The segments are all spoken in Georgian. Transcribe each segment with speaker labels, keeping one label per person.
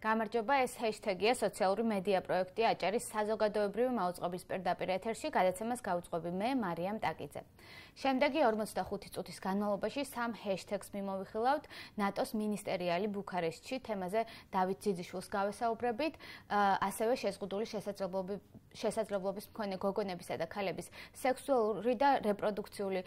Speaker 1: გამარჯობა, ეს ჰეშთეგია სოციალური მედია პროექტი აჭარის საზოგადოებრივი მაუწყობის პირდაპირ ეთერში გადაცემას გავუწყობი მე, მარიამ ტაკიძე. შემდეგი 45 წუთის განმავლობაში სამ ჰეშთეგს მიმოვიხილავთ ნატოს მინისტერიალი ბუქარესტში თემაზე დავით ძიძიშვილს გავესაუბრებით, ასევე შეზღუდული შესაძლებლობის მქონე გოგონებისა და ქალების სექსუალური და რეპროდუქციული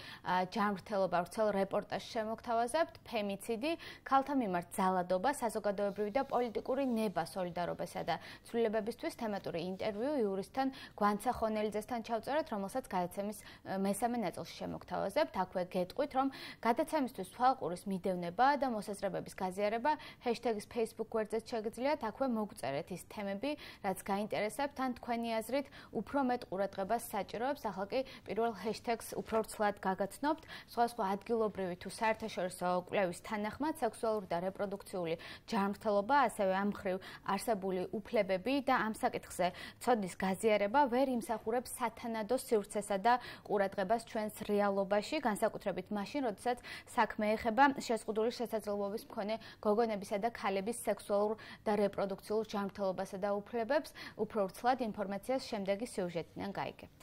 Speaker 1: ჯანმრთელობა ვრცელ რეპორტაჟს შემოგთავაზებთ, ფემიციდი, ქალთა მიმართ ძალადობა, საზოგადოებრივი და პოლიტიკური ნება სოლიდარობასა და ცვლილებებისთვის თემატური ინტერვიუ იურისტთან გვანცა ხონელიძესთან ჩავწერეთ, რომელსაც გადაცემის მესამე ნაწილში შემოგთავაზებთ. აქვე გეტყვით, რომ გადაცემისთვის თვალყურის მიდევნება და მოსაზრებების გაზიარება ჰეშთეგის Facebook გვერდზეც შეგიძლიათ, აქვე მოგწერეთ ის თემები, რაც გაინტერესებთ, ან თქვენი აზრით უფრო მეტ ყურადღებას საჭიროებს. ახლა კი პირველ ჰეშთეგს უფრო ვრცლად გაგაცნობთ. სხვადასხვა ადგილობრივი თუ საერთაშორისო კვლევის თანახმად სექსუალური და რეპროდუქციული ჯანმრთელობა, ასევე ამ მხრივ არსებული უფლებები და ამ საკითხზე ცოდნის გაზიარება ვერ იმსახურებს სათანადო სივრცესა და ყურადღებას ჩვენს რეალობაში, განსაკუთრებით მაშინ, როდესაც საქმე ეხება შეზღუდული შესაძლებლობის მქონე გოგონებისა და ქალების სექსუალურ და რეპროდუქციულ ჯანმრთელობასა და უფლებებს. უფრო ვრცლად ინფორმაციას შემდეგი სიუჟეტიდან გაიგებთ.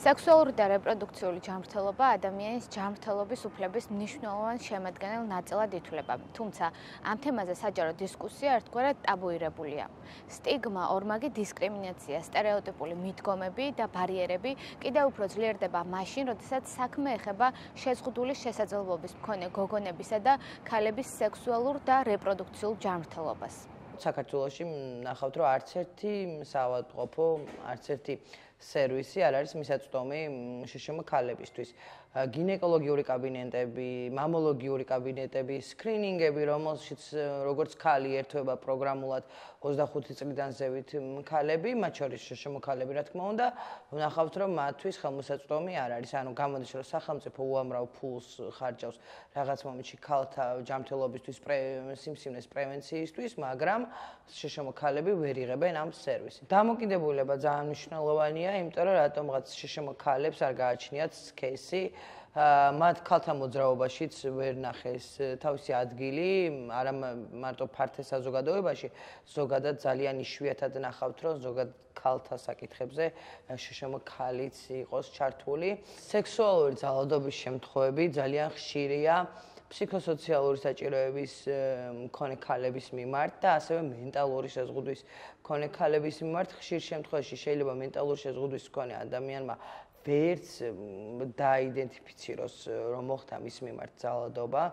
Speaker 1: სექსუალური და რეპროდუქციული ჯანმრთელობა ადამიანის ჯანმრთელობის უფლების მნიშვნელოვან შემადგენელ ნაწილად ითვლება. თუმცა ამ თემაზე საჯარო დისკუსია ერთგვარად ტაბუირებულია. სტიგმა, ორმაგი დისკრიმინაცია, სტერეოტიპული მიდგომები და ბარიერები კიდევ უფრო ძლიერდება მაშინ, როდესაც საქმე ეხება შეზღუდული შესაძლებლობის მქონე გოგონებისა და ქალების სექსუალურ და რეპროდუქციულ ჯანმრთელობას.
Speaker 2: საქართველოში ნახავთ, რომ არც ერთი საავადმყოფო, არც ერთი სერვისი არ არის მისაწვდომი შშმ ქალებისთვის. გინეკოლოგიური კაბინეტები, მამოლოგიური კაბინეტები, სკრინინგები, რომელშიც როგორც ქალი ერთვება პროგრამულად 25 წლიდან ზევით ქალები, მათ შორის შშმ ქალები, რა თქმა უნდა, ვნახავთ, რომ მათთვის ხელმისაწვდომი არ არის. ანუ გამოდის, რომ სახელმწიფო უამრავ ფულს ხარჯავს რაღაც მომენტში ქალთა ჯანმრთელობისთვის, სიმსივნის პრევენციისთვის, მაგრამ შშმ ქალები ვერ იღებენ ამ სერვისს. დამოკიდებულება ძალიან მნიშვნელოვანია, იმიტომ რომ რატომღაც შშმ ქალებს არ გააჩნიათ кейსი, მათ ქალთა მოძრაობაშიც ვერ ნახეს თავისი ადგილი, არა მარტო ფართე საზოგადოებაში, ზოგადად ძალიან იშვიათად ნახავთ, რომ ზოგადად ქალთა საკითხებზე შშმ ქალიც იყოს ჩართული. სექსუალური ძალადობის შემთხვევები ძალიან ხშირია ფსიქოსოციალური საჭიროების მქონე ქალების მიმართ და ასევე მენტალური შეზღუდვის მქონე ქალების მიმართ. ხშირ შემთხვევაში შეიძლება მენტალური შეზღუდვის მქონე ადამიანმა ვერც დაიდენტიფიციროს, რომ მოხდა მის მიმართ ძალადობა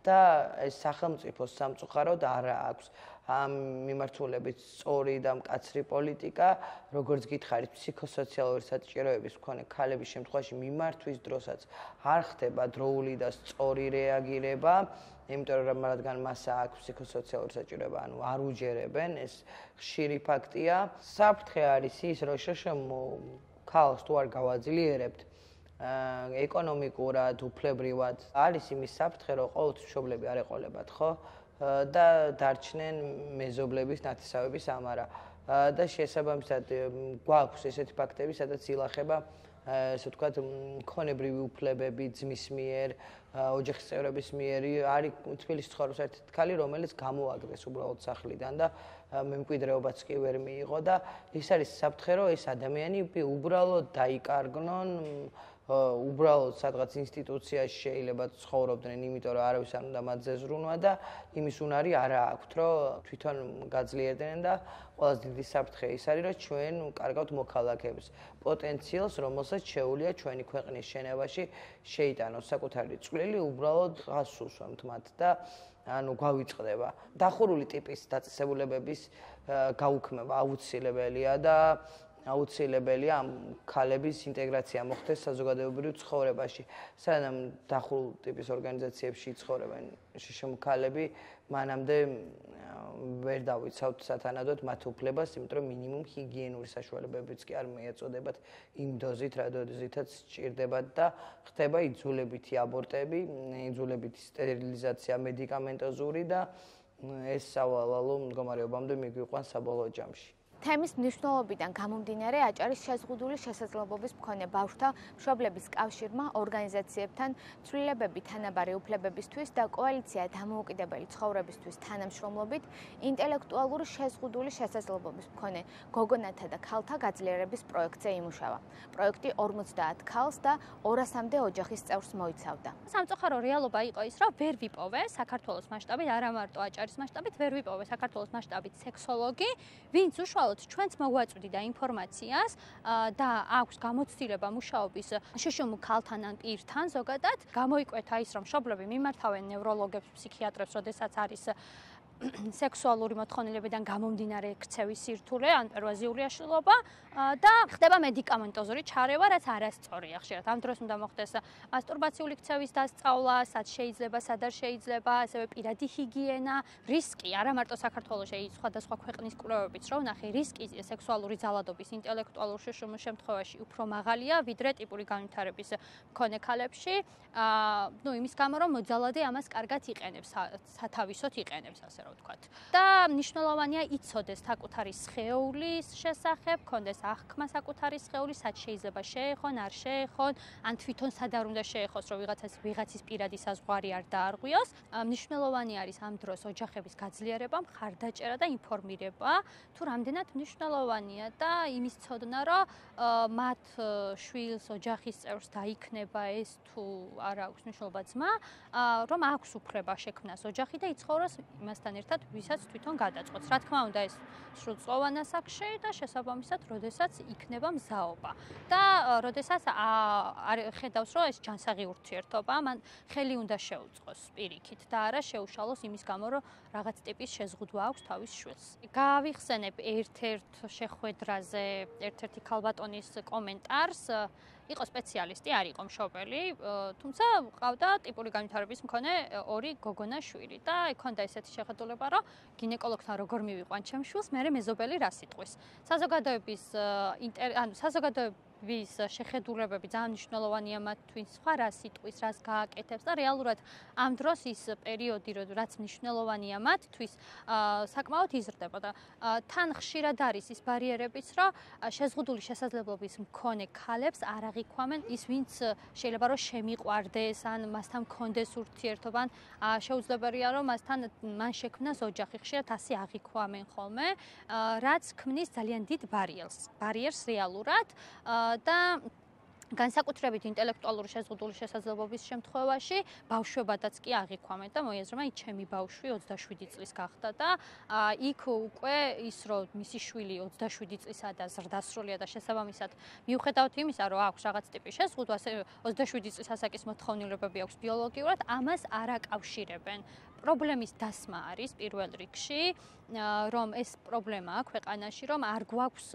Speaker 2: და ეს სახელმწიფოს სამწუხაროდ არ აქვს ამ მიმართულებით სწორი და მკაცრი პოლიტიკა, როგორც გითხარით, ფსიქოსოციალური საჭიროების მქონე ქალების შემთხვევაში მიმართვის დროსაც არ ხდება დროული და სწორი რეაგირება, იმიტომ რომ რადგან მას აქვს ფსიქოსოციალური საჭიროება, ანუ არ უჯერებენ, ეს ხშირი ფაქტია. საფრთხე არის ის, რომ შშმ ქალს თუ არ გავაძლიერებთ ეკონომიკურად, უფლებრივად, არის იმის საფრთხე, რომ ყოველთვის მშობლები არ ეყოლებათ, ხო? და დარჩნენ მეზობლების ნათესავების ამარა. და შესაბამისად გვაქვს ესეთი ფაქტები, სადაც ილახება ესე ვთქვათ, მქონებრივი უფლებები ძმის მიერ, ოჯახის წევრების მიერ. არის თბილისში ცხოვრობს ერთი ქალი, რომელიც გამოაგდეს უბრალოდ სახლიდან და მემკვიდრეობაც კი ვერ მიიღო და ის არის საფრთხე, რომ ეს ადამიანები უბრალოდ დაიკარგნონ, უბრალოდ სადღაც ინსტიტუციაში შეიძლება ცხოვრობდნენ, იმიტომ რომ არავის არ უნდა მათზე ზრუნვა და იმის უნარი არ აქვთ, რომ თვითონ გაძლიერდნენ და ყველაზე დიდი საფრთხე ის არის, რომ ჩვენ კარგავთ მოქალაქეებს პოტენციალს, რომელსაც შეუძლია ჩვენი ქვეყნის შენებაში შეიტანოს საკუთარი წვლილი, უბრალოდ გასულსვამთ მათ და ანუ გვავიწყდება. დახურული ტიპის დაწესებულებების გაუქმება აუცილებელია და აუცილებელია ამ ქალების ინტეგრაცია მოხდეს საზოგადოებრივ ცხოვრებაში. სანამ დახურულ ტიპის ორგანიზაციებში ცხოვრობენ შშმ ქალები, მანამდე ვერ დავიცავთ სათანადოდ მათ უფლებას, იმიტომ რომ მინიმუმ ჰიგიენური საშუალებებიც კი არ მიეწოდებათ იმ დოზით, რა დოზითაც სჭირდებათ და ხდება იძულებითი აბორტები, იძულებითი სტერილიზაცია მედიკამენტოზური და ეს სავალალო მდგომარეობამდე მიგვიყვანს საბოლოო ჯამში.
Speaker 1: თემის მნიშვნელობიდან გამომდინარე აჭარის შეზღუდული შესაძლებლობის მქონე ბავშვთა მშობლების კავშირმა ორგანიზაციებთან ცვლილებები თანაბარი უფლებებისთვის და კოალიცია დამოუკიდებელი ცხოვრებისთვის თანამშრომლობით ინტელექტუალური შეზღუდული შესაძლებლობის მქონე გოგონათა და ქალთა გაძლიერების პროექტზე იმუშავა. პროექტი 50 ქალს და 200-მდე ოჯახის წევრს მოიცავდა.
Speaker 3: სამწუხარო რეალობა იყო ის, რომ ვერ ვიპოვე საქართველოს მასშტაბით, არა მარტო აჭარის მასშტაბით, ვერ ვიპოვე საქართველოს მასშტაბით სექსოლოგი, ვინც უშუალოდ ჩვენც მოგვაწვდიდა ინფორმაციას და აქვს გამოცდილება მუშაობის შუშუმ ქალთან ან პირთან ზოგადად. გამოიკვეთა ის, რომ მშობლები მიმართავენ ნევროლოგებს, ფსიქიატრებს, როდესაც არის სექსუალური მოთხოვნილებიდან გამომდინარე ქცევის სირთულე ან პერვაზიული აშლილობა და ხდება მედიკამენტოზური ჩარევა, რაც არასწორია. ხშირად ამ დროს უნდა მოხდეს მასტურბაციული ქცევის დასწავლა, სად შეიძლება, სად არ შეიძლება, ასევე პირადი ჰიგიენა, რისკი, არა მარტო საქართველოში, სხვადასხვა ქვეყნის კვლევებიც რო ვნახე, რისკი სექსუალური ძალადობის ინტელექტუალურ შუშუმის შემთხვევაში უფრო მაღალია, ვიდრე ტიპური განვითარების მქონე ქალებში. იმის გამო, რომ მოძალადე ამას კარგად იყენებს, სათავისოდ იყენებს, ასე რომ ვთქვათ. და მნიშვნელოვანია იცოდეს საკუთარი სხეულის შესახებ, კონდეს აღქმა საკუთარი სხეულის, სად შეიძლება შეეხონ, არ შეეხონ, ან თვითონ სად არ უნდა შეეხოს, რომ ვიღაცის პირადი საზღვარი არ დაარღვიოს. მნიშვნელოვანი არის ამ დროს ოჯახების გაძლიერება, მხარდაჭერა და ინფორმირება, თუ რამდენად მნიშვნელოვანია და იმის ცოდნა, რომ მათ შვილს, ოჯახის წევრს დაიქნება ეს თუ არ აქვს მნიშვნელობა ძმა, რომ აქვს უფლება შექმნას ოჯახი და იცხოვროს იმასთან ერთად, ვისაც თვითონ გადაწყვეტს. რა თქმა უნდა, ეს სრულწლოვან ასაკში და შესაბამისად, როდესაც იქნება მზაობა. და როდესაც ხედავს, რომ ეს ჯანსაღი ურთიერთობა, მან ხელი უნდა შეუწყოს პირიქით და არა შეუშალოს იმის გამო, რომ რაღაც ტიპის შეზღუდვა აქვს თავის შვილს. გავიხსენებ ერთ-ერთ შეხვედრაზე ერთ-ერთი ქალბატონის კომენტარს. იყო სპეციალისტი, არ იყო მშობელი, თუმცა ყავდა ტიპური განვითარების მქონე 2 გოგონა შვილი და ჰქონდა ესეთი შეხედულება, რომ გინეკოლოგთან როგორ მივიყვან ჩემს შვილს, მე მეზობელი რა სიტყვის. საზოგადოების შეხედულებები ძალიან მნიშვნელოვანია მათთვის, სხვა რა სიტყვის, რას გააკეთებს და რეალურად ამ დროს ის პერიოდი, რაც მნიშვნელოვანია მათთვის, საკმაოდ იზრდება და თან ხშირად არის ის ბარიერებიც, რომ შეზღუდული შესაძლებლობის მქონე ქალებს არ აღიქვამენ ის, ვინც შეიძლება რომ შემიყვარდეს ან მასთან მქონდეს ურთიერთობა, შეუძლებელია რომ მან შექმნას ოჯახი, ხშირად ასე აღიქვამენ ხოლმე, რაც ქმნის ძალიან დიდ ბარიერს რეალურად და განსაკუთრებით ინტელექტუალური შეზღუდული შესაძლებლობის შემთხვევაში ბავშვებადაც კი აღიქვამენ და მოიაზრება, ჩემი ბავშვი 27 წლის გახდა და იქ უკვე ის რომ მისი შვილი 27 წლისა და ზრდასრულია და შესაბამისად მიუხედავად იმისა, რომ აქვს რაღაც ტიპის შეზღუდვა, 27 წლის ასაკის მოთხოვნილებები აქვს ბიოლოგიურად, ამას არ აკავშირებენ. პრობლემის დასმა არის პირველ რიგში, რომ ეს პრობლემაა ქვეყანაში, რომ არ გვაქვს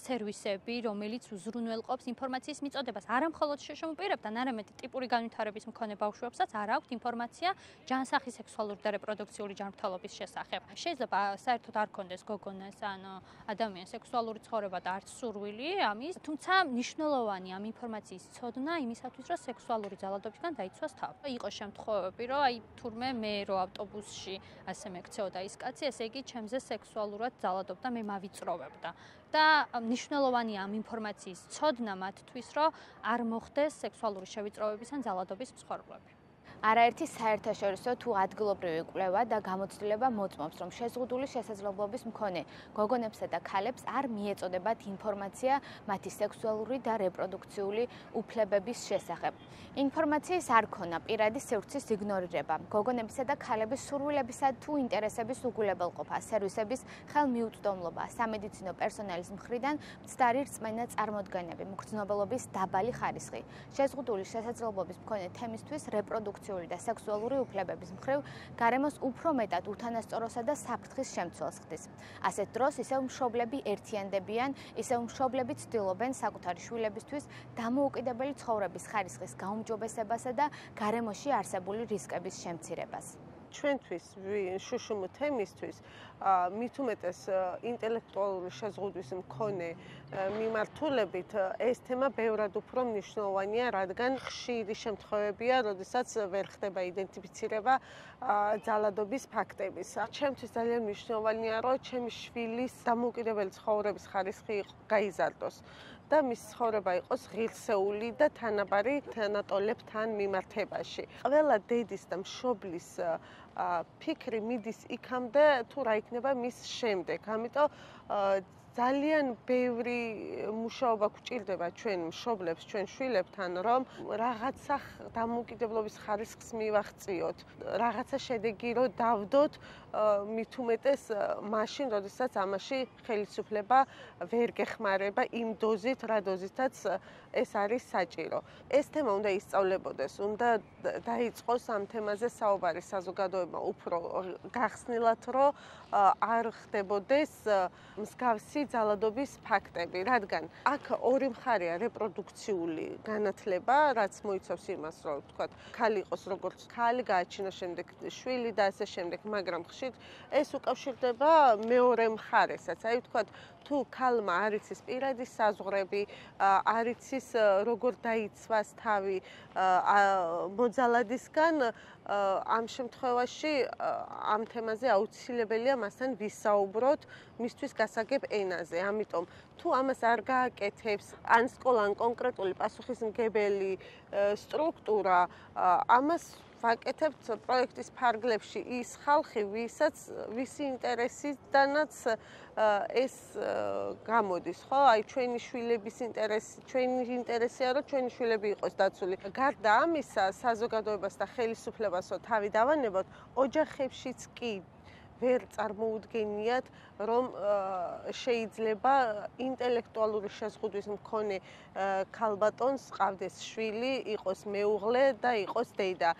Speaker 3: სერვისები, რომელიც უზრუნველყოფს ინფორმაციის მიწოდებას. არა მხოლოდ შშმ პირებთან, არამედ ტიპური განვითარების მქონე ბავშვებსაც არ აქვთ ინფორმაცია ჯანსაღი სექსუალური და რეპროდუქციული ჯანმრთელობის შესახებ. შეიძლება საერთოდ არ ქონდეს გოგონას ან ადამიანს სექსუალური ცხოვრება და არც სურვილი ამის, თუმცა მნიშვნელოვანია ამ ინფორმაციის ცოდნა იმისათვის, რომ სექსუალური ძალადობისგან დაიცვას თავი. იყო შემთხვევები, რომ თურმე მე რომ ავტობუსში ასე მეკცეოდა ის კაცი, ესე იგი ჩემზე სექსუალურად ძალადობდა, მე მავიწროვებდა. და მნიშვნელოვანია ამ ინფორმაციის ცოდნა მათთვის, რომ არ მოხდეს სექსუალური შევიწროვების ან ძალადობის მსხვერპლები.
Speaker 1: არაერთი საერთაშორისო თუ ადგილობრივი კვლევა და გამოცდილება მოწმობს, რომ შეზღუდული შესაძლებლობის მქონე გოგონებსა და ქალებს არ მიეწოდებათ ინფორმაცია მათი სექსუალური და რეპროდუქციული უფლებების შესახებ. ინფორმაციის არ ქონა, პირადი სივრცის იგნორირება, გოგონებისა და ქალების სურვილებისა თუ ინტერესების უგულებელყოფა, სერვისების ხელმიუწვდომლობა, სამედიცინო პერსონალის მხრიდან მცდარი რწმენა წარმოდგენები, მგრძნობელობის დაბალი ხარისხი, შეზღუდული შესაძლებლობის მქონე თემისთვის რეპროდუქციული და სექსუალური უფლებების მხრივ გარემოს უფრო მეტად უთანასწოროსა და საფრთხის შემცველს ხდის. ასეთ დროს ისევ მშობლები ერთიანდებიან, ისევ მშობლები ცდილობენ საკუთარი შვილებისთვის დამოუკიდებელი ცხოვრების ხარისხის გაუმჯობესებასა და გარემოში არსებული რისკების შემცირებას.
Speaker 4: ჩვენთვის შუშუმ თემისთვის მით უმეტეს ინტელექტუალური შეზღუდვის მქონე მიმართულებით ეს თემა ბევრად უფრო მნიშვნელოვანია, რადგან ხშირი შემთხვევებია, როდესაც ვერ ხდება იდენტიფიცირება ძალადობის ფაქტების. ჩემთვის ძალიან მნიშვნელოვანია, რომ ჩემი შვილის დამოუკიდებელი ცხოვრების ხარისხი გაიზარდოს და მის ცხოვრება იყოს ღირსეული და თანაბარი თანატოლებთან მიმართებაში. ყველა დედის და მშობლის ფიქრი მიდის იქამდე, თუ რა იქნება მის შემდეგ. ამიტომ ძალიან ბევრი მუშაობა გვჭირდება ჩვენ მშობლებს, ჩვენ შვილებთან, რომ რაღაცა დამოუკიდებლობის ხარისხს მივაღწიოთ, რაღაცა შედეგი რომ დავდოთ, მით უმეტეს მაშინ, როდესაც ამაში ხელისუფლება ვერ გეხმარება იმ დოზით, რა დოზითაც ეს არის საჭირო. ეს თემა უნდა ისწავლებოდეს, უნდა დაიწყოს ამ თემაზე საუბარი საზოგადოება უფრო გახსნილად, რომ არ ხდებოდეს მსგავსი ძალადობის ფაქტები, რადგან აქ ორი მხარეა რეპროდუქციული განათლება, რაც მოიცავს იმას, რომ თქვათ, ქალი იყოს როგორც ქალი, გააჩინოს შემდეგ შვილი და ასე შემდეგ, მაგრამ ხშირ ეს უკავშირდება მეორე მხარესაც. აი თქვათ, თუ ქალმა არ იცის პირადი საზღვრები, არ იცის როგორ დაიცვას თავი მოძალადისგან, ამ შემთხვევაში ამ თემაზე აუცილებელია მასთან ვისაუბროთ მისთვის გასაგებ ენაზე. ამიტომ თუ ამას არ გააკეთებს ან სკოლა, ან კონკრეტული პასუხისმგებელი სტრუქტურა, ამას ვაკეთებთ პროექტის ფარგლებში ის ხალხი, ვისი ინტერესიდანაც ეს გამოდის, ხო? აი ჩვენი შვილების ინტერესი, ჩვენი ინტერესია, რომ ჩვენი შვილები იყოს დაცული. გარდა ამისა, საზოგადოებას და ხელისუფლებას თავი დავანებოთ, ოჯახებშიც კი ვერ წარმოუდგენიათ, რომ შეიძლება ინტელექტუალური შეზღუდვის მქონე ქალბატონს ყავდეს შვილი, იყოს მეუღლე და იყოს დედა.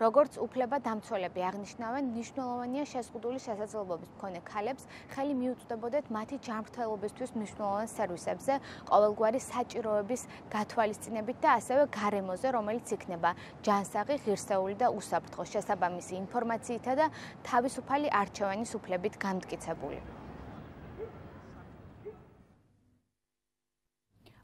Speaker 1: როგორც უფლებადამცველები აღნიშნავენ, მნიშვნელოვანია შეზღუდული შესაძლებლობის მქონე ქალებს ხელი მიუწვდებოდეთ მათი ჯანმრთელობისთვის მნიშვნელოვან სერვისებზე, ყოველგვარი საჭიროების გათვალისწინებით და ასევე გარემოზე, რომელიც იქნება ჯანსაღი, ღირსეული და უსაფრთხო, შესაბამისი ინფორმაციითა და თავისუფალი არჩევანის უფლებით გამტკიცებული.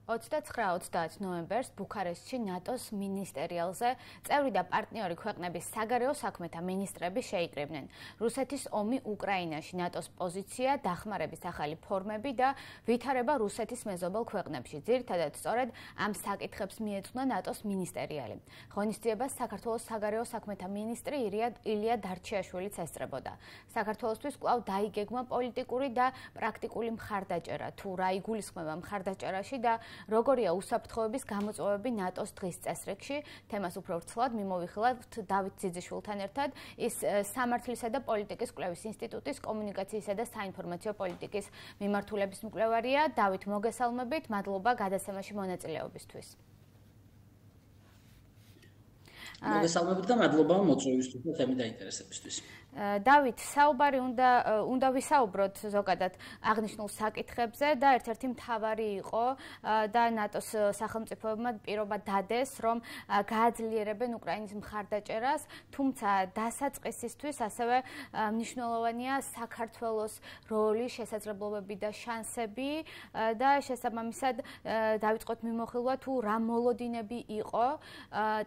Speaker 1: 29-30 ნოემბერს ბუქარესტში ნატოს მინისტერიალზე წევრი და პარტნიორი ქვეყნების საგარეო საქმეთა მინისტრები შეიკრიბნენ. რუსეთის ომი უკრაინაში, ნატოს პოზიცია, დახმარების ახალი ფორმები და ვითარება რუსეთის მეზობელ ქვეყნებში. ძირითადად სწორედ ამ საკითხებს მიეძღვნა ნატოს მინისტერიალი. ღონისძიებას საქართველოს საგარეო საქმეთა მინისტრი ილია დარჩიაშვილიც ესწრებოდა. საქართველოსთვის კვლავ დაიგეგმა პოლიტიკური და პრაქტიკული მხარდაჭერა, თუ რა იგულისხმება მხარდაჭერაში და როგორია უსაფრთხოების გამოწვევები ნატოს დღის წესრიგში, თემას უფრო ვრცლად მიმოვიხილავთ დავით ძიძიშვილთან ერთად, ის სამართლისა და პოლიტიკის კვლევის ინსტიტუტის კომუნიკაციისა და საინფორმაციო პოლიტიკის მიმართულების მკვლევარია. დავით, მოგესალმებით, მადლობა გადაცემაში მონაწილეობისთვის.
Speaker 5: მოგესალმებით და მადლობა მოწვევისთვის და თემის დაინტერესებისთვის.
Speaker 1: დავით, საუბარი უნდა ვისაუბროთ ზოგადად აღნიშნულ საკითხებზე და ერთ-ერთი მთავარი იყო და ნატოს სახელმწიფოებმა პირობა დადეს, რომ გააძლიერებენ უკრაინის მხარდაჭერას, თუმცა დასაწყისისთვის ასევე მნიშვნელოვანია საქართველოს როლი, შესაძლებლობები და შანსები და შესაბამისად დავიწყოთ მიმოხილვა, თუ რა მოლოდინები იყო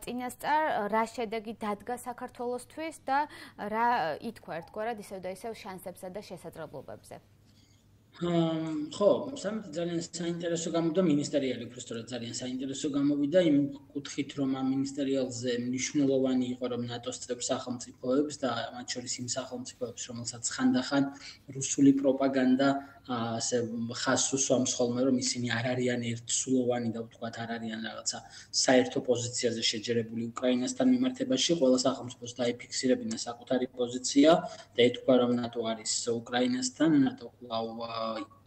Speaker 1: წინასწარ, რა შედეგი დადგა საქართველოსთვის და რა ითქვა ერთგვარად ისევ და ისევ შანსებსა და შესაძლებლობებზე.
Speaker 5: ხო, სამით ძალიან საინტერესო გამოვიდა მინისტერიალი, უბრალოდ ძალიან საინტერესო გამოვიდა იმ კუთხით, რომ ამ მინისტერიალზე მნიშვნელოვანი იყო, რომ ნატოს წევრ სახელმწიფოებს და მათ შორის იმ სახელმწიფოებს, რომელსაც ხანდახან რუსული პროპაგანდა ასე ხაზს უსვამს ხოლმე, რომ ისინი არ არიან ერთსულოვანი და ვთქვათ არ არიან რაღაცა საერთო პოზიციაზე შეჯერებული უკრაინასთან მიმართებაში, ყველა სახელმწიფოს დაიფიქსირებინა საკუთარი პოზიცია და ეთქვა, რომ ნატო არის უკრაინასთან, ნატო კვლავ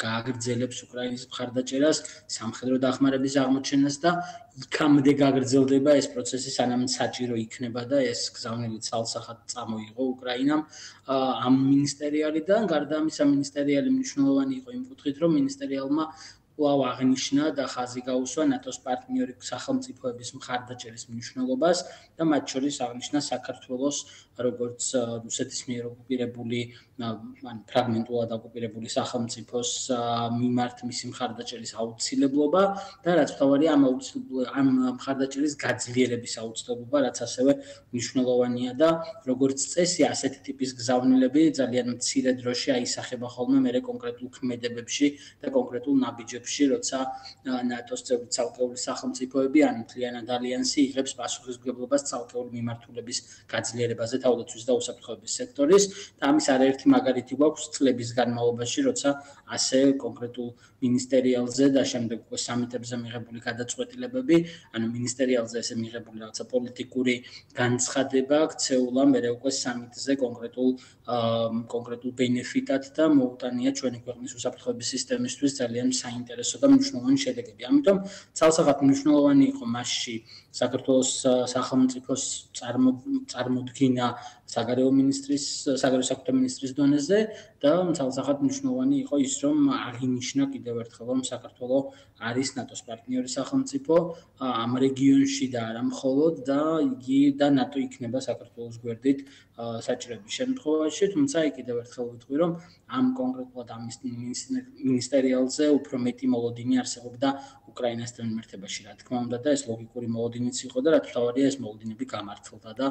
Speaker 5: გააგრძელებს უკრაინის მხარდაჭერას, სამხედრო დახმარების აღმოჩენას და იქამდე გაგრძელდება ეს პროცესი, სანამ საჭირო იქნება და ეს გზავნილი ცალსახად წამოიღო უკრაინამ ამ მინისტერიალიდან. გარდა ამისა, მინისტერიალი მნიშვნელოვანი იყო იმ კუთხით, რომ მინისტერიალმა კვლავ აღნიშნა და ხაზი გაუსვა ნატოს პარტნიორი სახელმწიფოების მხარდაჭერის მნიშვნელობას და მათ შორის აღნიშნა საქართველოს როგორც რუსეთის მიერ ოკუპირებული ან ფრაგმენტულად ოკუპირებული სახელმწიფოს მიმართ მისი მხარდაჭერის აუცილებლობა და რაც თავარია ამ მხარდაჭერის გაძლიერების აუცილებლობა, რაც ასევე მნიშვნელოვანია და როგორც წესი ასეთი ტიპის გზავნილები ძალიან მცირე დროში აისახება ხოლმე მერე კონკრეტულ ქმედებებში და კონკრეტულ ნაბიჯებში, როცა ნატოს წევრი ცალკეული სახელმწიფოები ან მთლიანად ალიანსი იღებს პასუხისმგებლობას ცალკეული მიმართულების გაძლიერებაზე თავდაცვის და უსაფრთხოების სექტორის და ამის არაერთი მაგალითი გვაქვს წლების განმავლობაში, როცა ასე კონკრეტულ მინისტერიალზე და შემდეგ უკვე სამიტებზე მიღებული გადაწყვეტილებები, ანუ მინისტერიალზე ესე მიღებული რაღაცა პოლიტიკური განცხადება ქცეულა მერე უკვე სამიტზე კონკრეტულ ბენეფიტად და მოუტანია ჩვენი ქვეყნის უსაფრთხოების სისტემისთვის ძალიან საინტერესო და მნიშვნელოვანი შედეგები. ამიტომ ცალსახად მნიშვნელოვანი იყო მასში საქართველოს სახელმწიფოს წარმოდგინა საგარეო საქმეთა მინისტრის დონეზე და ცალსახად მნიშვნელოვანი იყო ის, რომ აღინიშნა კიდევ ერთხელ, რომ საქართველოს არის ნატოს პარტნიორი სახელმწიფო ამ რეგიონში და არა მხოლოდ და იგი და ნატო იქნება საქართველოს გვერდით საჭიროების შემთხვევაში, თუმცა კიდევ ერთხელ ვიტყვი, რომ ამ კონკრეტულად ამ მინისტერიალზე უფრო მეტი მოლოდინი არსებობდა უკრაინასთან მიმართებაში, რა თქმა უნდა და ეს ლოგიკური მოლოდინიც იყო და რაც თავარია ეს მოლოდინები გამართლდა და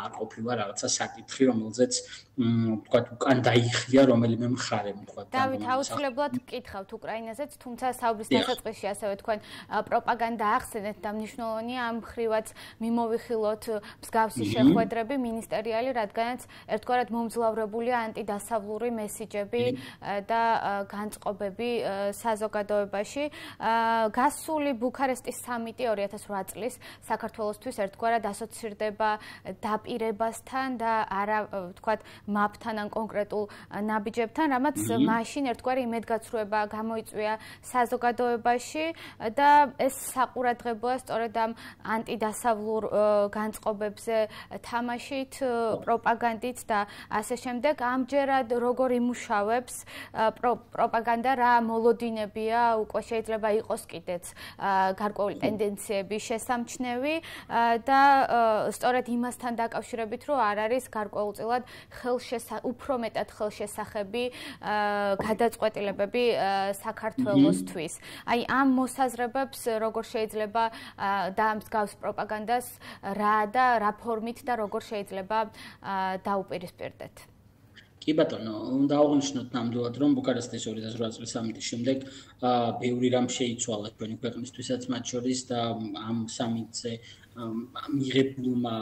Speaker 5: არ ყოფილა რაღაცა საკითხი, რომელზეც თქვა უკან დაიხია რომელიმე მხარემ, თქვა.
Speaker 1: დავით, აუცილებლად გკითხავთ უკრაინაზეც, თუმცა საუბრის დასაწყისში ასევე თქვენ პროპაგანდა ახსენეთ და მნიშვნელოვანია ამ ხრივაც მიმოვიხილოთ მსგავსი შეხვედრები მინისტერიალი, რადგანაც ერთგვარად მომძლავრებულია ანტიდასავლური მესიჯები და განწყობები საზოგადოებაში. გასული ბუქარესტის სამიტი 2008 წლის საქართველოსთვის ერთგვარად ასოცირდება დაპირებასთან და არა ვთქვათ მაპთან ან კონკრეტულ ნაბიჯებთან, რამაც მაშინ ერთგვარი იმედგაცრუება გამოიწვია საზოგადოებაში და ეს საყურადღებოა სწორედ ამ ანტიდასავლურ განწყობებზე თამაშით, პროპაგანდით და ასე შემდეგ. ამჯერად როგორ იმუშავებს პროპაგანდა, რა მოლოდინებია, უკვე შეიძლება იყოს კიდეც გარკვეული ტენდენციები შესამჩნევი და სწორედ იმასთან დაკავშირებით, რომ არ არის გარკვეულწილად უფრო მეტად ხელშესახები გადაწყვეტილებები საქართველოსთვის. აი ამ მოსაზრებებს როგორ შეიძლება და მსგავს პროპაგანდას რა ფორმით და როგორ შეიძლება დაუპირისპირდეთ?
Speaker 5: კი ბატონო, უნდა აღვნიშნოთ ნამდვილად, რომ ბუქარესტის 2008 წლის სამიტის შემდეგ ბევრი რამ შეიცვალა ჩვენი ქვეყნისთვისაც მათ შორის და ამ სამიტზე მიღებულმა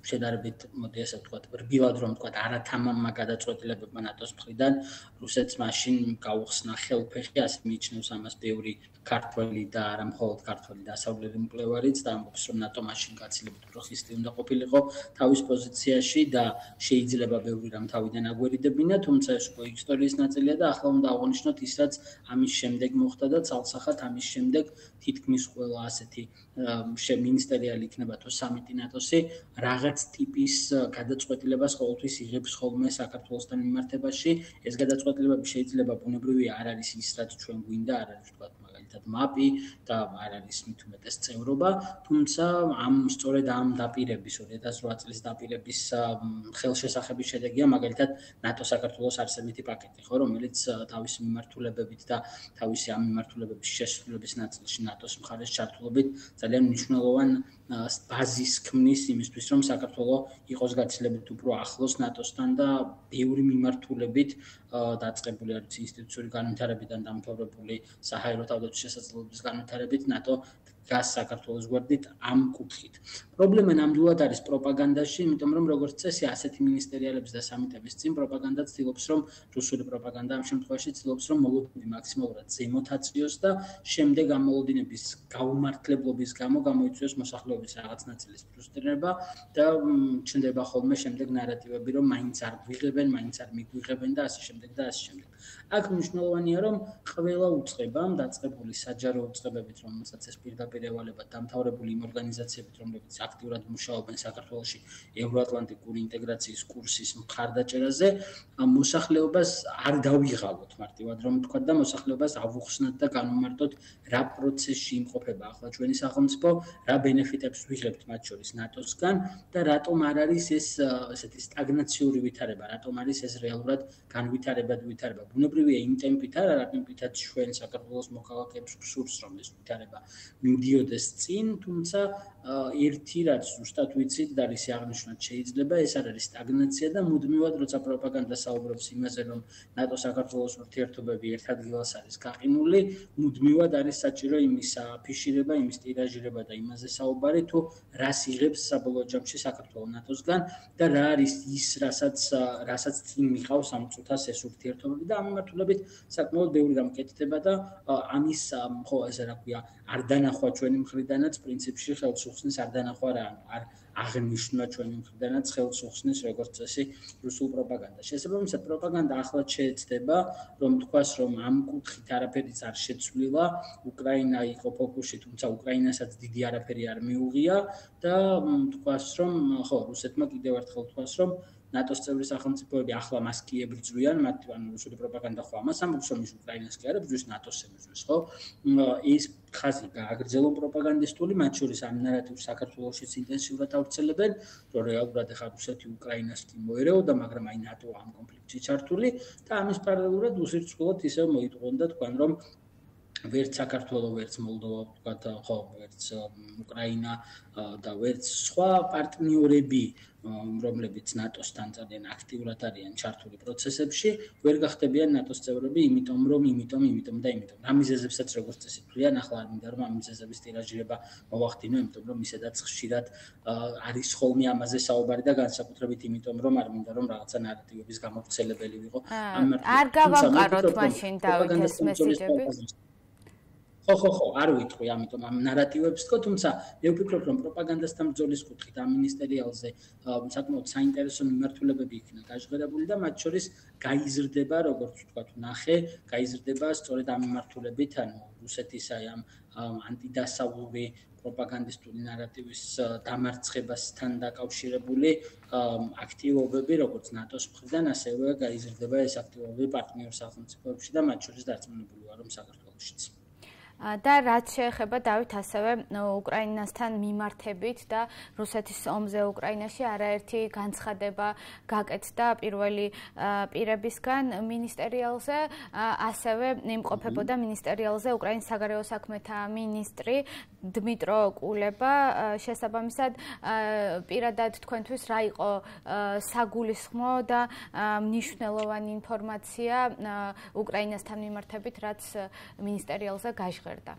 Speaker 5: შედარებით მოდი ასე ვთქვათ, რბილად რომ ვთქვათ, არათამამმა გადაწყვეტილებებმა ნატოს მხრიდან რუსეთს მაშინ გაუხსნა ხელფეხი, ასე მიიჩნევს ამას ბევრი ქართველი და არა მხოლოდ ქართველი დასავლელი მკვლევარიც და ამბობს, რომ ნატო მაშინ გაცილებით უფრო ხისტი უნდა ყოფილიყო თავის პოზიციაში და შეიძლება ბევრი რამ თავიდან აგვერიდებინა, თუმცა ეს უკვე ისტორიის ნაწილია და ახლა უნდა აღვნიშნოთ ის, რაც ამის შემდეგ მოხდა და ცალსახად ამის შემდეგ თითქმის ყველა ასეთი მინისტერიალი იქნება თუ სამიტი ნატოსი რაღაც ტიპის გადაწყვეტილებას ყოველთვის იღებს ხოლმე საქართველოსთან მიმართებაში. ეს გადაწყვეტილებები შეიძლება ბუნებრივია არ არის ის, რაც ჩვენ გვინდა, არ არის ვთქვათ მაგალითად მაპი და არ არის მით უმეტეს წევრობა, თუმცა სწორედ ამ დაპირების 2008 წლის დაპირების ხელშესახების შედეგია მაგალითად ნატო საქართველოს არსებითი პაკეტი, ხო, რომელიც თავისი მიმართულებებით და თავისი ამ მიმართულებების შესრულების ნაწილში ნატოს მხარეს ჩართულობით ძალიან მნიშვნელოვან ბაზის ქმნის იმისთვის, რომ საქართველოს იყოს გაცილებით უფრო ახლოს ნატოსთან და ბევრი მიმართულებით დაწყებული არის ინსტიტუციური განვითარებიდან დამთავრებული საჰაერო თავდაცვის შესაძლებლობის განვითარებით ნატო გას საქართველოს გვერდით ამ კუთხით. პრობლემა ნამდვილად არის პროპაგანდაში, იმიტომ რომ როგორც წესი ასეთი მინისტერიალების და სამიტების წინ პროპაგანდა ცდილობს, რომ რუსული პროპაგანდა ამ შემთხვევაში ცდილობს, რომ მოლოდინები მაქსიმალურად ზემოთ აწიოს და შემდეგ ამ მოლოდინების გაუმართლებლობის გამო გამოიწვიოს მოსახლეობის რაღაც ნაწილის ფრუსტრირება და ჩნდება ხოლმე შემდეგ ნარატივები, რომ მაინც არ გვიღებენ, მაინც არ მიგვიღებენ და ასე შემდეგ და ასე შემდეგ. აქ მნიშვნელოვანია, რომ ყველა უწყებამ დაწყებული საჯარო უწყებებით, რომელსაც ეს პირდაპირ პირევალებად დამთავრებული იმ ორგანიზაციებით, რომლებიც აქტიურად მუშაობენ საქართველოში ევროატლანტიკური ინტეგრაციის კურსის მხარდაჭერაზე, მოსახლეობას არ დავიღალოთ მარტივად რომ თქვა და მოსახლეობას ავუხსნათ და განვმარტოთ რა პროცესში იმყოფება ახლა ჩვენი სახელმწიფო, რა ბენეფიტებს ვიღებთ მათ შორის ნატოსგან და რატომ არ არის ეს ესეთი სტაგნაციური ვითარება, რატომ არის ეს რეალურად განვითარებად ვითარება. ბუნებრივია იმ ტემპით არა, რა ტემპითაც ჩვენ საქართველოს მოქალაქეებს გსურს რომ ეს ვითარება მივდიოდეს წინ, თუმცა ერთი რაც ზუსტად ვიცით და რისი აღნიშვნაც შეიძლება, ეს არ არის სტაგნაცია და მუდმივად როცა პროპაგანდა საუბრობს იმაზე, რომ ნატო საქართველოს ურთიერთობები ერთ ადგილას არის გაყინული, მუდმივად არის საჭირო იმის აფიშირება, იმის ტირაჟირება და იმაზე საუბარი, თუ რას იღებს საბოლოო ჯამში საქართველო ნატოსგან და რა არის ის, რასაც წინ მიყავს ამ წუთას ეს ურთიერთობები და ამ მიმართულებით საკმაოდ ბევრი რამ კეთდება და ამის ხო ესე რა ქვია, არ დანახვა ჩვენი მხრიდანაც პრინციპში ხელს უხსნის არ დანახვა რა, არ აღნიშნა ჩვენი მხრიდანაც ხელს უხსნის როგორც წესი რუსულ პროპაგანდას. შესაბამისად პროპაგანდა ახლაც შეეცდება, რომ თქვას, რომ ამ კუთხით არაფერიც არ შეცვლილა, უკრაინა იყო ფოკუსში, თუმცა უკრაინასაც დიდი არაფერი არ მიუღია და თქვას, რომ ხო, რუსეთმა კიდევ ერთხელ თქვას, რომ ნატოს წევრი სახელმწიფოები ახლა მას კი ებრძვიან, მათ ანუ რუსული პროპაგანდა ხო ამას ამბობს, რომ ის უკრაინას კი არ ებრძვის, ნატოს ებრძვის, ხო? ის ხაზი გააგრძელონ პროპაგანდისტული, მათ შორის ამ ნარატივს საქართველოშიც ინტენსიურად ავრცელებენ, რომ რეალურად ახლა რუსეთი უკრაინას კი მოერეოდა, მაგრამ აი ნატო ამ კონფლიქტში ჩართული და ამის პარალელურად უსირცხვილოდ ისევ მოიტყუონ და თქვენ, რომ ვერც საქართველო, ვერც მოლდოვა, ვთქვათ, ხო, ვერც უკრაინა და ვერც სხვა პარტნიორები, რომლებიც ნატოსთან ძალიან აქტიურად არიან ჩართული პროცესებში, ვერ გახდებიან ნატოს წევრები, იმიტომ და იმიტომ. ამ მიზეზებსაც როგორც წესი თვლიან, ახლა არ მინდა რომ ამ მიზეზების ტირაჟირება მოვახდინო, იმიტომ რომ ისედაც ხშირად არის ხოლმე ამაზე საუბარი და განსაკუთრებით იმიტომ რომ არ მინდა რომ რაღაცა ნარატივების გამავრცელებელი ვიყო.
Speaker 1: არ გავამყაროთ მაშინ დავით ეს მესიჯები.
Speaker 5: ხო, არ ვიტყვი, ამიტომ ამ ნარატივებს თქო, თუმცა მე ვფიქრობ, რომ პროპაგანდასთან ბრძოლის კუთხით ამ მინისტერიალზე საკმაოდ საინტერესო მიმართულებები იქნა გაჟღერებული და მათ შორის გაიზრდება, როგორც ვთქვათ, ნახე, გაიზრდება სწორედ ამ მიმართულებით, ანუ რუსეთის აი ამ ანტიდასავლური პროპაგანდისტული ნარატივის დამარცხებასთან დაკავშირებული აქტივობები, როგორც ნატოს მხრიდან, ასევე გაიზრდება ეს აქტივობები პარტნიორ სახელმწიფოებში და მათ შორის დარწმუნებული ვარ, რომ საქართველოშიც.
Speaker 1: და რაც შეეხება დავით ასევე უკრაინასთან მიმართებით და რუსეთის ომზე უკრაინაში არაერთი განცხადება გაკეთდა პირველი პირებისგან მინისტერიალზე, ასევე იმყოფებოდა მინისტერიალზე უკრაინის საგარეო საქმეთა მინისტრი დმიტრო კულება. შესაბამისად პირადად თქვენთვის რა იყო საგულისხმო და მნიშვნელოვანი ინფორმაცია უკრაინასთან მიმართებით, რაც მინისტერიალზე გაჟღერდა?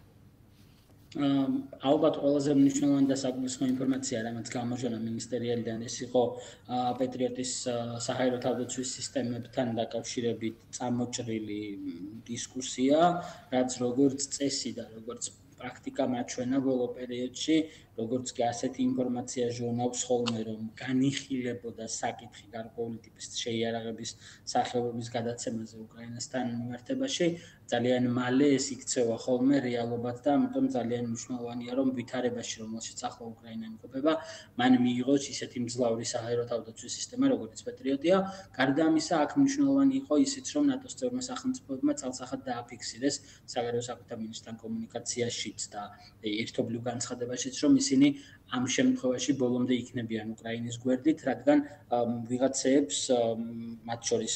Speaker 5: ალბათ ყველაზე მნიშვნელოვანი და საგულისხმო ინფორმაცია, რამაც გამოჟონა მინისტერიალიდან, ეს იყო პეტრიოტის საჰაერო თავდაცვის სისტემებთან დაკავშირებით წამოჭრილი დისკუსია, რაც როგორც წესი და როგორც პრაქტიკა მაჩვენა ბოლო პერიოდში, როგორც კი ასეთი ინფორმაცია ჟურნალს ხოლმე რომ განიხილებოდა საკითხი გარკვეული ტიპის შეიარაღების სახეობების გადაცემაზე უკრაინასთან მიმართებაში, ძალიან მალე ეს იქცევა ხოლმე რეალობად და ამიტომ ძალიან მნიშვნელოვანია რომ ვითარებაში, რომელშიც ახლა უკრაინა იმყოფება, მან მიიღოს ისეთი მძლავრი საჰაერო თავდაცვის სისტემა, როგორც პეტრიოტია. გარდა ამისა, აქ მნიშვნელოვანი იყო ისიც, რომ ნატოს წევრმა სახელმწიფოებმა წალსახად დააფიქსირეს საგარეო საქმეთა მინისტრთან კომუნიკაციაშიც და ერთობლივ განცხადებაშიც, რომ ისინი ამ შემთხვევაში ბოლომდე იქნებიან უკრაინის გვერდით, რადგან ვიღაცეებს, მათ შორის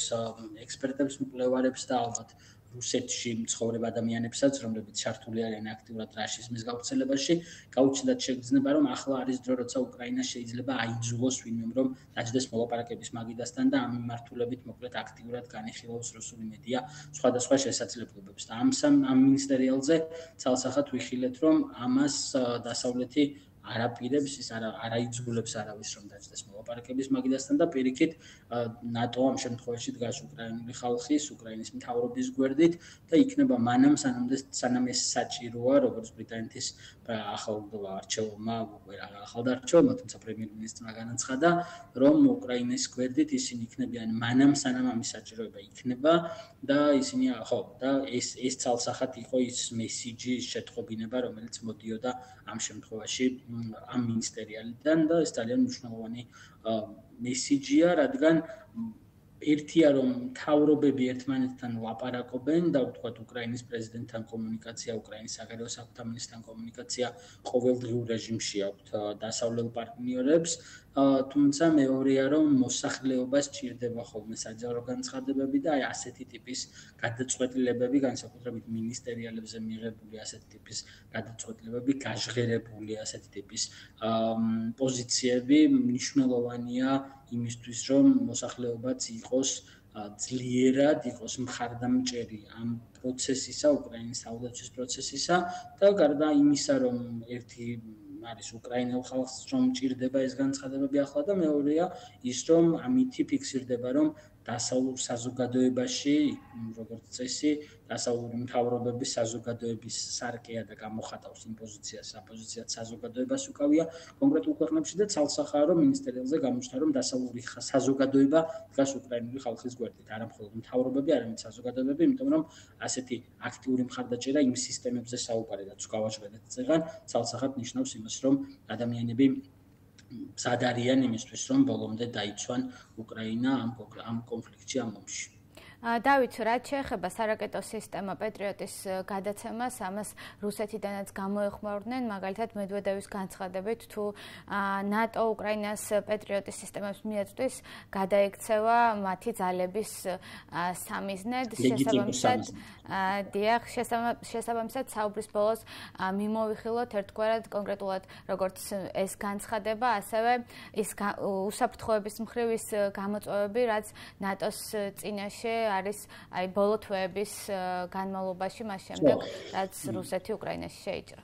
Speaker 5: ექსპერტებს, მკვლევარებს და ალბათ რუსეთში მცხოვრებ ადამიანებსაც, რომლებიც ჩართული არიან აქტიურად რაშიზმის გავრცელებაში, გაუჩნდათ შეგრძნება, რომ ახლა არის დრო, როცა უკრაინა შეიძლება აიძულოს ვინმემ, რომ დაჯდეს მოლაპარაკების მაგიდასთან და ამ მიმართულებით მოკლედ აქტიურად განიხილავს რუსული მედია სხვადასხვა შესაძლებლობებს. და ამ მინისტერიალზე ცალსახად ვიხილეთ, რომ ამას დასავლეთი არაპირებს, ის არაიძულებს არავის რომ დაჯდეს მოლაპარაკების მაგიდასთან და პირიქით ნატო ამ შემთხვევაში დგას უკრაინული ხალხის, უკრაინის მთავრობის გვერდით და იქნება მანამ სანამ ეს საჭიროა, როგორც ბრიტანეთის ახალ არჩეულმა, ახალ არჩეულმა, თუმცა პრემიერ-მინისტრმა განაცხადა, რომ უკრაინის გვერდით ისინი იქნებიან მანამ სანამ ამის საჭიროება იქნება და ისინი და ეს ცალსახად იყო ის მესიჯი, შეთხოვინება, რომელიც მოდიოდა ამ შემთხვევაში ამ მინისტერიალიდან და ეს ძალიან მნიშვნელოვანი მესიჯია, რადგან ერთია რომ მთავრობები ერთმანეთთან ლაპარაკობენ და ვთქვათ უკრაინის პრეზიდენტთან კომუნიკაცია, უკრაინის საგარეო საქმეთა მინისტრთან კომუნიკაცია ყოველდღიურ რეჟიმში აქვთ დასავლელ პარტნიორებს, თუმცა მეორეა რომ მოსახლეობას ჭირდება ხოლმე საჯარო განცხადებები და ასეთი ტიპის გადაწყვეტილებები, განსაკუთრებით მინისტერიალებზე მიღებული ასეთი ტიპის გადაწყვეტილებები, გაჟღერებული ასეთი ტიპის პოზიციები მნიშვნელოვანია იმისთვის, რომ მოსახლეობაც იყოს ძლიერად, იყოს მხარდამჭერი ამ პროცესისა, უკრაინის თავდაცვის პროცესისა და გარდა იმისა, რომ ერთი არის უკრაინელ ხალხს რომ ჭირდება ეს განცხადებები ახლა და მეორეა ის, რომ ამითი ფიქსირდება, რომ დასავლურ საზოგადოებაში, როგორც წესი, დასავლური მთავრობების საზოგადოების სარკეა და გამოხატავს იმ პოზიციას, საპოზიციად საზოგადოებას უკავია კონკრეტულ ქვეყნებში და ცალსახაა, რომ მინისტერიალზე გამოჩნდა, რომ დასავლური საზოგადოება დგას უკრაინული ხალხის გვერდით, არა მხოლოდ მთავრობები, არამედ საზოგადოებები, იმიტომ რომ ასეთი აქტიური მხარდაჭერა იმ სისტემებზე საუბარი, რაც გავაჟღერეთ წეგან, ცალსახად ნიშნავს იმას, რომ ადამიანები მზად არიან იმისთვის, რომ ბოლომდე დაიცვან უკრაინა ამ კონფლიქტში, ამ ომში.
Speaker 1: დავით, რაც შეეხება სარაკეტო სისტემა პეტრიოტის გადაცემას, ამას რუსეთიდანაც გამოეხმაურდნენ, მაგალითად მედვედევის განცხადებით, თუ ნატო უკრაინას პეტრიოტის სისტემებს მიაწვდის, გადაექცევა მათი ძალების სამიზნედ, შესაბამისად საუბრის ბოლოს მიმოვიხილოთ ერთგვარად კონკრეტულად როგორც ეს განცხადება, ასევე ის უსაფრთხოების მხრივ ის გამოწვევები, რაც ნატოს წინაშე არის ბოლო თვეების განმავლობაში მას შემდეგ, რაც რუსეთი უკრაინაში შეიჭრა.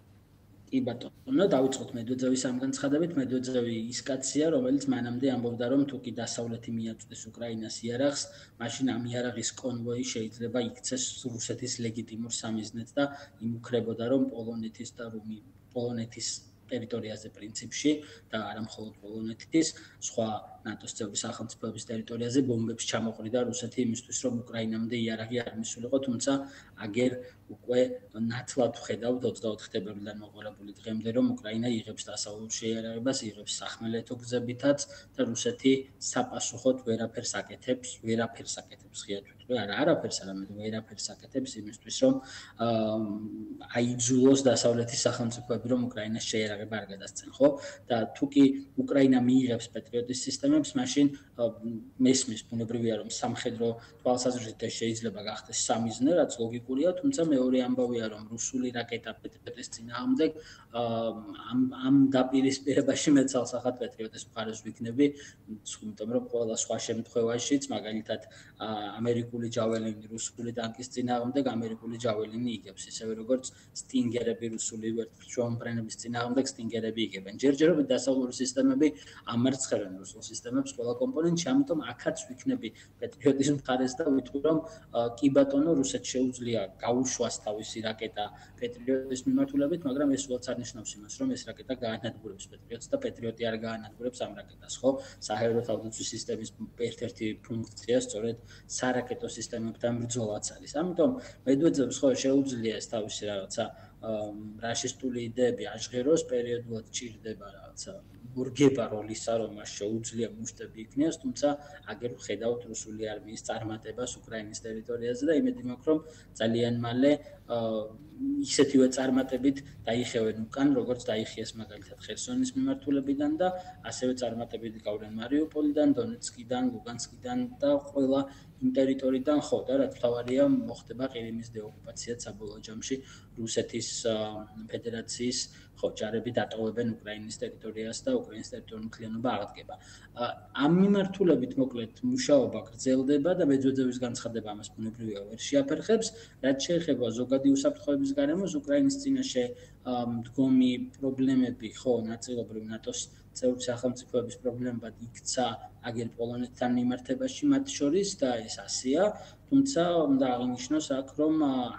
Speaker 5: კი ბატონო, დავიწყოთ მედვედევის ამ განცხადებით. მედვედევი ის კაცია, რომელიც მანამდე ამბობდა, რომ თუ კი დასავლეთი მიაწვდის უკრაინას იარაღს, მაშინ ამ იარაღის კონვოი შეიძლება იქცეს რუსეთის ლეგიტიმურ სამიზნედ და იმუქრებოდა, რომ პოლონეთის ტერიტორიაზე პრინციპში და არა მხოლოდ პოლონეთის, სხვა ნატოს წევრი სახელმწიფოების ტერიტორიაზე ბომბებს ჩამოყრიდა რუსეთი იმისთვის, რომ უკრაინამდე იარაღი არ მისულიყო, თუმცა აგერ უკვე ნათლად ვხედავთ 24 თებერვლიდან მოყოლებული დღემდე, რომ უკრაინა იღებს დასავლურ შეიარაღებას, იღებს სახმელეთო გზებითაც და რუსეთი საპასუხოდ ვერაფერს აკეთებს, ღიად ვიტყვი, არაფერს, არამედ ვერაფერს აკეთებს იმისთვის, რომ აიძულოს დასავლეთის სახელმწიფოები, რომ უკრაინას შეიარაღება არ გადასცენ, ხო? და თუ კი უკრაინა მიიღებს პეტრიოტის სისტემებს, მაშინ მესმის ბუნებრივია, რომ სამხედრო თვალსაზრისით შეიძლება გახდეს სამიზნე, რაც ლოგიკურია, თუმცა მეორე ამბავია, რომ რუსული რაკეტა პეტრიოტის წინააღმდეგ ამ დაპირისპირებაში მე ცალსახად პეტრიოტის მხარეს ვიქნები, იმიტომ რომ ყველა სხვა შემთხვევაშიც, მაგალითად ამერიკული ჯაველინი რუსული ტანკის წინააღმდეგ ამერიკული ჯაველინი იგებს, ისევე როგორც სტინგერები რუსული ვერტმფრენების წინააღმდეგ სტინგერები იგებენ. ჯერჯერობით დასავლური სისტემები ამარცხებენ რუსულ სისტემებს ყველა კომპონენტში, ამიტომ აქაც ვიქნები პეტრიოტის მხარეს და ვიტყვი, რომ კი ბატონო, რუსეთს შეუძლია გაუშვას თავისი რაკეტა პეტრიოტის მიმართულებით, მაგრამ ეს უცებ არ ნიშნავს იმას, რომ ეს რაკეტა გაანადგურებს პეტრიოტს და პეტრიოტი არ გაანადგურებს ამ რაკეტას, ხო? საჰაერო თავდაცვის სისტემის ერთ-ერთი ფუნქცია სწორედ სარაკეტო სისტემებთან ბრძოლაც არის. ამიტომ მედვედევს ხო შეუძლია ეს თავისი რაღაცა რაშისტული იდეები აჟღეროს, პერიოდულად ჭირდება რაღაცა გურგება როლისა, რომ მას შეუძლია მუშტები იქნიოს, თუმცა აგერ ვხედავთ რუსული არმიის წარმატებას უკრაინის ტერიტორიაზე და იმედი მაქვს, რომ ძალიან მალე ისეთივე წარმატებით დაიხევენ უკან, როგორც დაიხიეს მაგალითად ხერსონის მიმართულებიდან და ასევე წარმატებით გავლენ მარიუპოლიდან, დონეცკიდან, ლუგანსკიდან და ყველა იმ ტერიტორიიდან, ხო და რაც მთავარია, მოხდება ყირიმის დეოკუპაცია საბოლოო ჯამში რუსეთის ფედერაციის ჯარები დატოვებენ უკრაინის ტერიტორიას და უკრაინის ტერიტორიული მთლიანობა აღდგება. ამ მიმართულებით მოკლედ მუშაობა გრძელდება და მედვედევის განცხადება ამას ბუნებრივია ვერ შეაფერხებს, რაც შეეხება ზოგადი უსაფრთხოების გარემოს უკრაინის წინაშე მდგომი პრობლემები, ხო, ნაწილობრივ ნატოს წევრ სახელმწიფოების პრობლემებად იქცა აგერ პოლონეთთან მიმართებაში მათ შორის და ეს ასეა. თუმცა უნდა აღინიშნოს აქ, რომ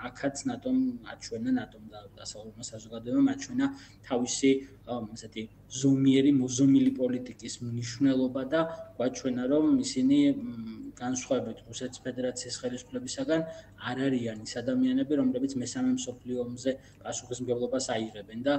Speaker 5: აქაც ნატომ აჩვენა, ნატომ და დასავლურმა საზოგადოებამ აჩვენა თავისი ესეთი ზომიერი მოზომილი პოლიტიკის მნიშვნელობა და გვაჩვენა, რომ ისინი განსხვავებით რუსეთის ფედერაციის ხელისუფლებისაგან არ არიან ის ადამიანები, რომლებიც მესამე მსოფლიო ომზე პასუხისმგებლობას აიღებენ და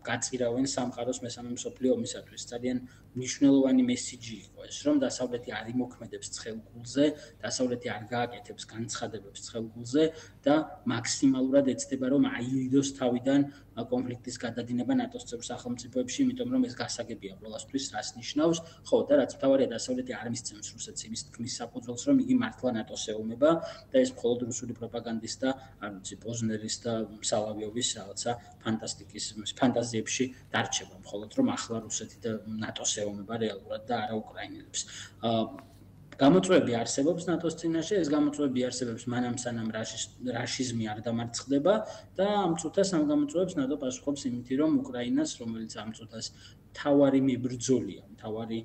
Speaker 5: გაწირავენ სამყაროს მესამე მსოფლიო ომისათვის. ძალიან მნიშვნელოვანი მესიჯი იყო ეს, რომ დასავლეთი არ იმოქმედებს ცხელგულზე, დასავლეთი არ გააკეთებს განცხადებებს ცხელგულზე და მაქსიმალურად ეცდება, რომ აირიდოს თავიდან კონფლიქტის გადადინება ნატოს წევრ სახელმწიფოებში, იმიტომ რომ ეს გასაგებია ყველასთვის, რას ნიშნავს. ხო, და რაც მთავარია, დასავლეთი არ მისცემს რუსეთს იმის თქმის საფუძველს, რომ იგი მართლა ნატოს ეომება და ეს მხოლოდ რუსული პროპაგანდის და არ ვიცი, პოზნერის და სალავიოვის რაღაცა ფანტასტიკის ფანტაზიებში დარჩება, მხოლოდ რომ ახლა რუსეთი და ნატოს ეომება რეალურად და არა უკრაინელებს. გამოწვევები არსებობს ნატოს წინაშე, ეს გამოწვევები არსებობს მანამ სანამ რაშიზმი არ დამარცხდება და ამ წუთას ამ გამოწვევებს ნატო პასუხობს იმით, რომ უკრაინას, რომელიც ამ წუთას თავარი მებრძოლია, თავარი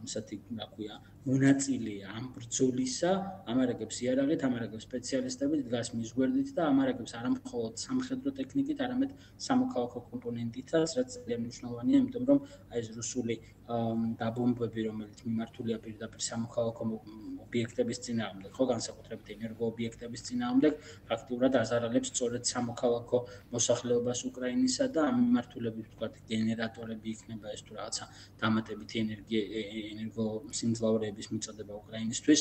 Speaker 5: ესეთი, რა ქვია, მონაწილეა ამ ბრძოლისა, ამარაგებს იარაღით, ამარაგებს სპეციალისტებით, დგას მის გვერდით და ამარაგებს არა მხოლოდ სამხედრო ტექნიკით, არამედ სამოქალაქო კომპონენტითაც, რაც ძალიან მნიშვნელოვანია, იმიტომ რომ აი ეს რუსული დაბომბები, რომელიც მიმართულია პირდაპირ სამოქალაქო ობიექტების წინააღმდეგ, ხო, განსაკუთრებით ენერგოობიექტების წინააღმდეგ, ფაქტიურად აზარალებს სწორედ სამოქალაქო მოსახლეობას უკრაინისა და ამ მიმართულებით ვთქვათ, გენერატორები იქნება ეს თუ რაღაცა დამატებითი ენერგოსიმძლავრეების მიწოდება უკრაინისთვის,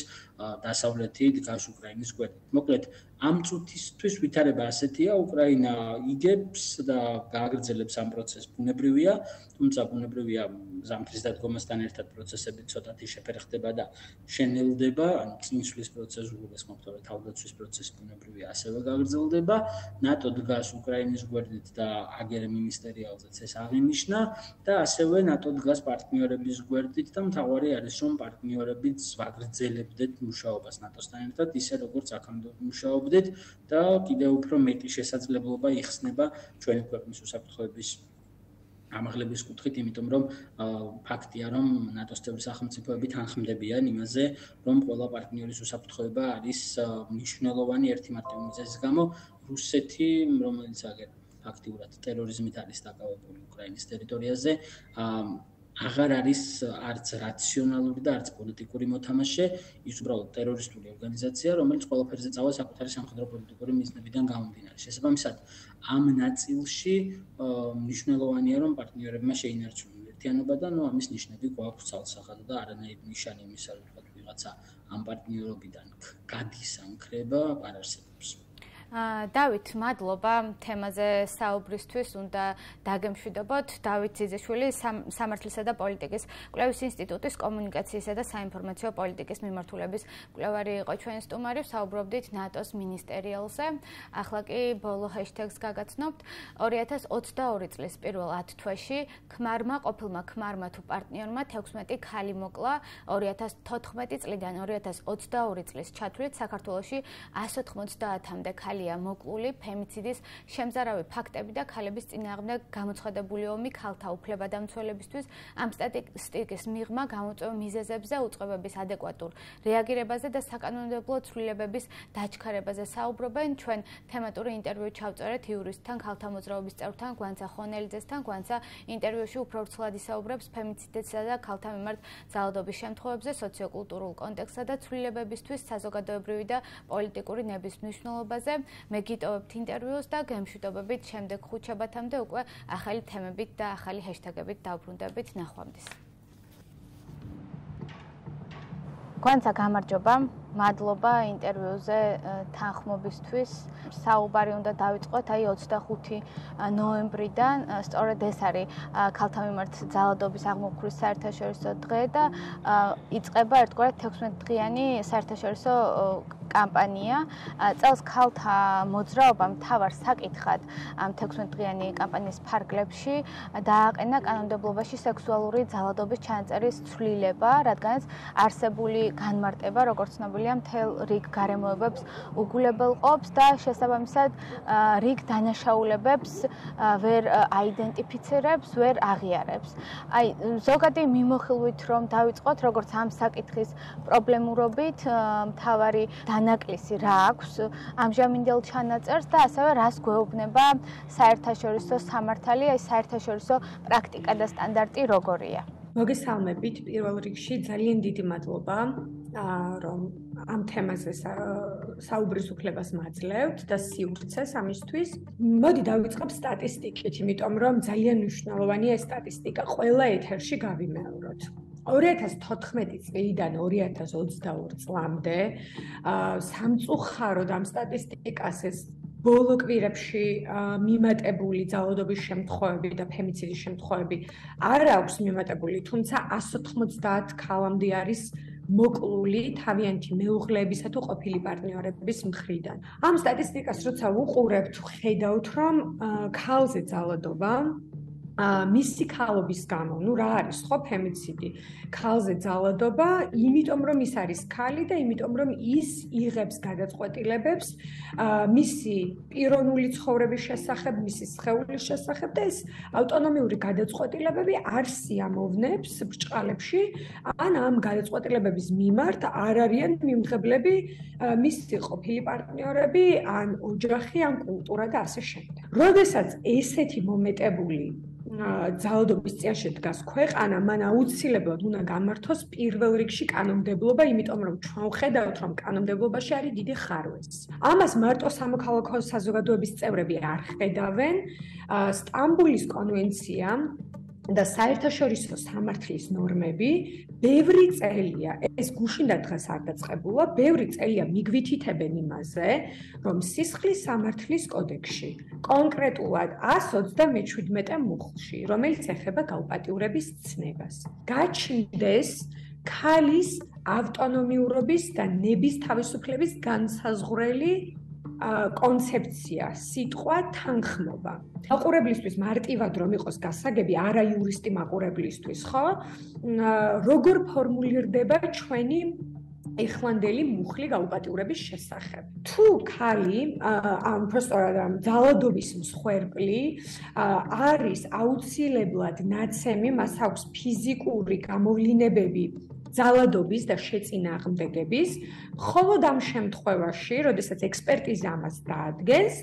Speaker 5: დასავლეთი დგას უკრაინის გვერდით. მოკლედ, ამ წუთისთვის ვითარება ასეთია, უკრაინა იგებს და გააგრძელებს ამ პროცესს ბუნებრივია, თუმცა ბუნებრივია ზამთრის დადგომასთან ერთად პროცესები ცოტათი შეფერხდება და შენელდება, ანუ წინსვლის პროცესი, უგულისხმობთ, რომ თავდაცვის პროცესი ბუნებრივია ასევე გაგრძელდება. ნატო დგას უკრაინის გვერდით და აგერ მინისტერიალზეც ეს აღინიშნა და ასევე ნატო დგას პარტნიორების გვერდით და მთავარი არის, რომ პარტნიორებიც ვაგრძელებდეთ მუშაობას ნატოსთან ერთად, ისე როგორც აქამდე მუშაობდით და კიდევ უფრო მეტი შესაძლებლობა იხსნება ჩვენი ქვეყნის უსაფრთხოების ამაღლების კუთხით, იმიტომ რომ ფაქტია, რომ ნატოს წევრი სახელმწიფოები თანხმდებიან იმაზე, რომ ყველა პარტნიორის უსაფრთხოება არის მნიშვნელოვანი ერთი მარტივი მიზეზის გამო, რუსეთი, რომელიც აგერ ფაქტიურად ტერორიზმით არის დაკავებული უკრაინის ტერიტორიაზე, აღარ არის არც რაციონალური და არც პოლიტიკური მოთამაშე, ის უბრალოდ ტერორისტული ორგანიზაცია, რომელიც ყველაფერზე წავა საკუთარი სამხედრო პოლიტიკური მიზნებიდან გამომდინარე. შესაბამისად, ამ ნაწილში მნიშვნელოვანია, რომ პარტნიორებმა შეინარჩუნონ ერთიანობა და ამის ნიშნები გვაქვს ცალსახად და არანაირი ნიშანი იმისა, რომ ვთქვათ, ვიღაცა ამ პარტნიორობიდან გადის ამ ქრება, არ არსებობს.
Speaker 1: დავით, მადლობა თემაზე საუბრისთვის, უნდა დაგემშვიდობოთ. დავით ძიძიშვილი, სამართლისა და პოლიტიკის კვლევის ინსტიტუტის კომუნიკაციისა და საინფორმაციო პოლიტიკის მიმართულების კვლევარი იყო ჩვენი სტუმარი, საუბრობდით ნატოს მინისტერიალზე. ახლა კი ბოლო ჰეშტეგს გაგაცნობთ. 2022 წლის პირველ 10 თვეში ყოფილმა ქმარმა თუ პარტნიორმა 16 ქალი მოკლა, 2014 წლიდან 2022 წლის ჩათვლით საქართველოში 190-მდე ქალი მოკლული ფემიციდის შემზარავი ფაქტები და ქალების წინააღმდეგ გამოცხადებული ომი ქალთა უფლებადამცველებისთვის ამ სტატისტიკის მიღმა გამოწვევ მიზეზებზე, უწყებების ადეკვატურ რეაგირებაზე და საკანონმდებლო ცვლილებების დაჩქარებაზე საუბრობენ. ჩვენ თემატური ინტერვიუ ჩავწერეთ იურისტთან, ქალთა მოძრაობის წევრთან, გვანცა ხონელიძესთან. გვანცა ინტერვიუში უფრო ვრცლად ისაუბრებს ფემიციდისა და ქალთა მიმართ ძალადობის შემთხვევებზე, სოციოკულტურულ კონტექსტსა და ცვლილებებისთვის საზოგადოებრივი და პოლიტიკური ნების მნიშვნელობაზე. მე გიტოვებთ ინტერვიუს და გემშვიდობებით შემდეგ ხუთშაბათამდე უკვე ახალი თემებით და ახალი ჰეშტეგებით დავბრუნდებით. ნახვამდის. გვანცა გამარჯობა, მადლობა ინტერვიუზე თანხმობისთვის. საუბარი უნდა დავიწყოთ აი 25 ნოემბრიდან, სწორედ ეს არის ქალთა მიმართ ძალადობის აღმოფხრის საერთაშორისო დღე და იწყება ერთგვარად 16 დღიანი საერთაშორისო კამპანია. წელს ქალთა მოძრაობამ მთავარ საკითხად ამ 16 დღიანი კამპანიის ფარგლებში დააყენა კანონმდებლობაში სექსუალური ძალადობის ჩანაწერის ცვლილება, რადგანაც არსებული განმარტება, როგორც ცნობილია, მთელ რიგ გარემოებებს უგულებელყოფს და შესაბამისად რიგ დანაშაულებებს ვერ აიდენტიფიცირებს, ვერ აღიარებს. აი, ზოგადი მიმოხილვით რომ დავიწყოთ, როგორც ამ საკითხის პრობლემურობით, მთავარი დანაკლისი რა აქვს ამჟამინდელ ჩანაწერს და ასევე რას გვეუბნება საერთაშორისო სამართალი, აი საერთაშორისო პრაქტიკა და სტანდარტი როგორია.
Speaker 6: მოგესალმებით, პირველ რიგში ძალიან დიდი მადლობა, რომ ამ თემაზე საუბრის უფლებას მაძლევთ და სივრცეს ამისთვის. მოდი დავიწყებ სტატისტიკით, იმიტომ რომ ძალიან მნიშვნელოვანია ეს სტატისტიკა ყველა ეთერში გავიმეოროთ. 2014 წლიდან 2022 წლამდე სამწუხაროდ ამ სტატისტიკას ეს ბოლო კვირებში მიმატებული ძალადობის შემთხვევები და ფემიციდის შემთხვევები არ აქვს მიმატებული, თუმცა 190 ქალამდე არის მოკლული თავიანთი მეუღლეებისა თუ ყოფილი პარტნიორების მხრიდან. ამ სტატისტიკას როცა უყურებთ, ხედავთ, რომ ქალზე ძალადობა მისი ქალობის გამო, რა არის ხო ფემიციდი? ქალზე ძალადობა, იმიტომ რომ ის არის ქალი და იმიტომ რომ ის იღებს გადაწყვეტილებებს მისი პიროვნული ცხოვრების შესახებ, მისი სხეულის შესახებ და ეს ავტონომიური გადაწყვეტილებები არ სიამოვნებს ბრჭყალებში, ან ამ გადაწყვეტილებების მიმართ არ არიან მიმღებლები მისი ყოფილი პარტნიორები, ან ოჯახი, ან კულტურა და ასე შემდეგ. როდესაც ესეთი მომეტებული ძალადობის წინაშე დგას ქვეყანა, მან აუცილებლად უნდა გამართოს პირველ რიგში კანონმდებლობა, იმიტომ რომ ჩვენ ვხედავთ, რომ კანონმდებლობაში არის დიდი ხარვესი. ამას მარტო სამოქალაქო საზოგადოების წევრები არ ხედავენ. სტამბულის კონვენცია და საერთაშორისო სამართლის ნორმები ბევრი წელია, ეს გუშინ და დღეს არ დაწყებულა, ბევრი წელია მიგვითითებენ იმაზე, რომ სისხლის სამართლის კოდექსში, კონკრეტულად 127 მუხლში, რომელიც ეხება გაუპატიურების ცნებას, გაჩნდეს ქალის ავტონომიურობის და ნების თავისუფლების განსაზღვრელი კონცეფცია, სიტყვა თანხმობა. მაყურებლისთვის მარტივად რომ იყოს გასაგები, არა იურისტი მაყურებლისთვის, ხო? როგორ ფორმულირდება ჩვენი ეხლანდელი მუხლი გაუპატიურების შესახებ. თუ ქალი, უბრალოდ ძალადობის მსხვერპლი არის აუცილებლად ნაცემი, მას აქვს ფიზიკური გამოვლინებები ძალადობის და შეწინააღმდეგების, მხოლოდ ამ შემთხვევაში, როდესაც ექსპერტიზა ამას დაადგენს,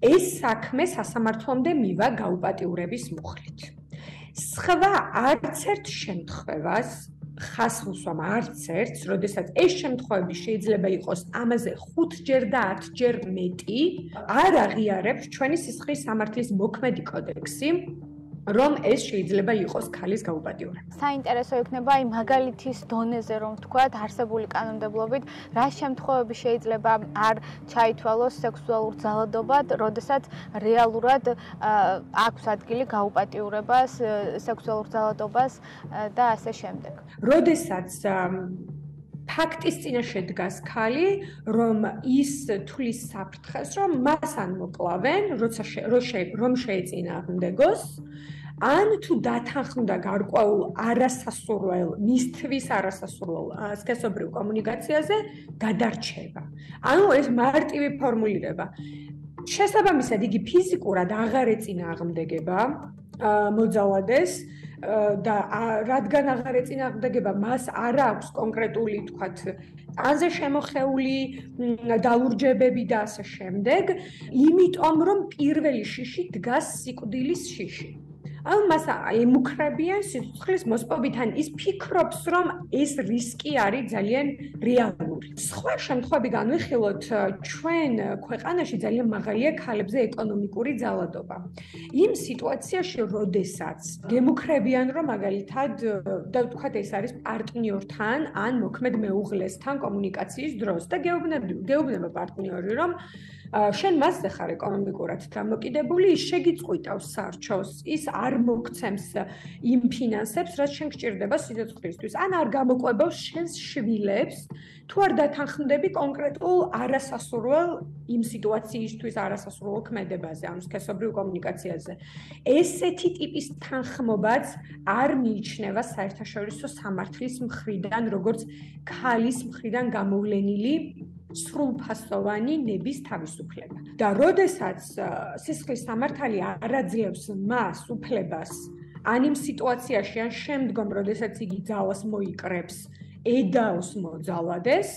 Speaker 6: ეს საქმე სასამართლომდე მივა გაუპატიურების მუხლით. სხვა არც ერთ შემთხვევას ხას ვუსვამ არც ერთს, როდესაც ეს შემთხვევები შეიძლება იყოს ამაზე 5-ჯერ და 10-ჯერ მეტი, არ აღიარებს ჩვენი სისხლის სამართლის მოქმედი კოდექსი, რომ ეს შეიძლება იყოს ქალის გაუპატიურება.
Speaker 1: საინტერესო იქნება აი მაგალითის დონეზე რომ ვთქვათ, არსებული კანონმდებლობით რა შემთხვევები შეიძლება არ ჩაითვალოს სექსუალურ ძალადობად, როდესაც რეალურად აქვს ადგილი გაუპატიურებას, სექსუალურ ძალადობას და ასე შემდეგ.
Speaker 6: როდესაც ფაქტის წინაშე დგას ქალი, რომ ის თulis საფრთხეს, რომ მას ან მოკლავენ, რომ შეეწინააღმდეგოს, ან თუ დათანხმდა გარკვეულ არასასურველ, მისთვის არასასურველ სქესობრივ კომუნიკაციაზე გადარჩება. ანუ ეს მარტივი ფორმულირება. შესაბამისად, იგი ფიზიკურად აღარ ეწინააღმდეგება მოძალადეს და რადგან აღარ ეწინააღმდეგება, მას არ აქვს კონკრეტული, თქვათ, ანზე შემოხეული დალურჯებები და ასე შემდეგ, იმიტომ რომ პირველი შიში დგას სიკვდილის შიში. ანუ მას ემუქრებიან სიცოცხლის მოსპობით, ან ის ფიქრობს, რომ ეს რისკი არის ძალიან რეალური. სხვა შემთხვევები განვიხილოთ, ჩვენ ქვეყანაში ძალიან მაღალია ქალებზე ეკონომიკური ძალადობა. იმ სიტუაციაში, როდესაც გემუქრებიან, რომ მაგალითად და ვთქვათ, ეს არის პარტნიორთან ან მოქმედ მეუღლესთან კომუნიკაციის დროს და გეუბნება პარტნიორი, რომ შენ მასზე ხარ ეკონომიკურად დამოკიდებული, ის შეგიწყვიტავს სარჩოს, ის არ მოგცემს იმ ფინანსებს, რაც შენ გჭირდება სიცოცხლისთვის, ან არ გამოყვებავს შენს შვილებს, თუ არ დათანხმდები კონკრეტულ არასასურველ იმ სიტუაციისთვის არასასურველ ქმედებაზე, ანუ სქესობრივ კომუნიკაციაზე. ესეთი ტიპის თანხმობაც არ მიიჩნევა საერთაშორისო სამართლის მხრიდან, როგორც ქალის მხრიდან გამოვლენილი სრულფასოვანი ნების თავისუფლება. და როდესაც სისხლის სამართალი არ აძლევს მას უფლებას ან იმ სიტუაციაში, ან შემდგომ, როდესაც იგი ძალას მოიკრებს, ედავს მოძალადეს,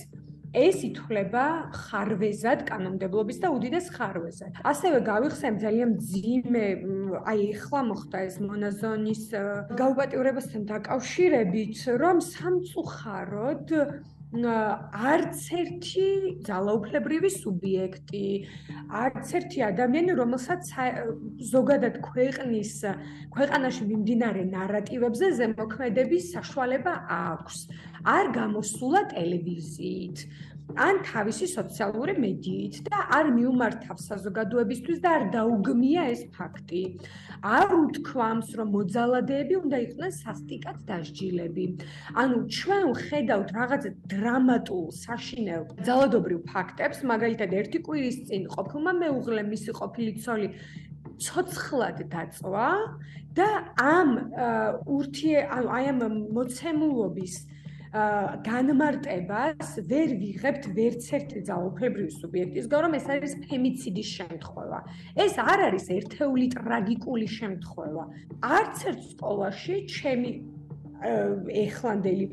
Speaker 6: ეს ითვლება ხარვეზად კანონმდებლობის და უდიდეს ხარვეზად. ასევე გავიხსენებ ძალიან მძიმე, აი ეხლა მოხდა ეს მონაზონის გაუპატიურებასთან დაკავშირებით, რომ სამწუხაროდ არც ერთი ძალაუფლებრივი სუბიექტი, არც ერთი ადამიანი, რომელსაც ზოგადად ქვეყანაში მიმდინარე ნარატივებზე ზემოქმედების საშუალება აქვს, არ გამოსულა ტელევიზიით, ან თავისი სოციალური მედიით და არ მიუმართავს საზოგადოებისთვის და არ დაუგმია ეს ფაქტი. არ უთქვამს, რომ მოძალადეები უნდა იყვნენ სასტიკად დასჯილები. ანუ ჩვენ ხედავთ რაღაც დრამატულ, საშინელ, ძალადობრივ ფაქტებს, მაგალითად, ერთი კვირის წინ ყოფილმა მეუღლემ მისი ყოფილი ცოლი ცოცხლად დაწვა და ამ მოცემულობის განმარტებას ვერ ვიღებთ ვერც ერთი ძალაუფლებრივი სუბიექტისგან, რომ ეს არის ფემიციდის შემთხვევა. ეს არ არის ერთეული ტრაგიკული შემთხვევა. არც ერთ სკოლაში ჩემი ეხლანდელი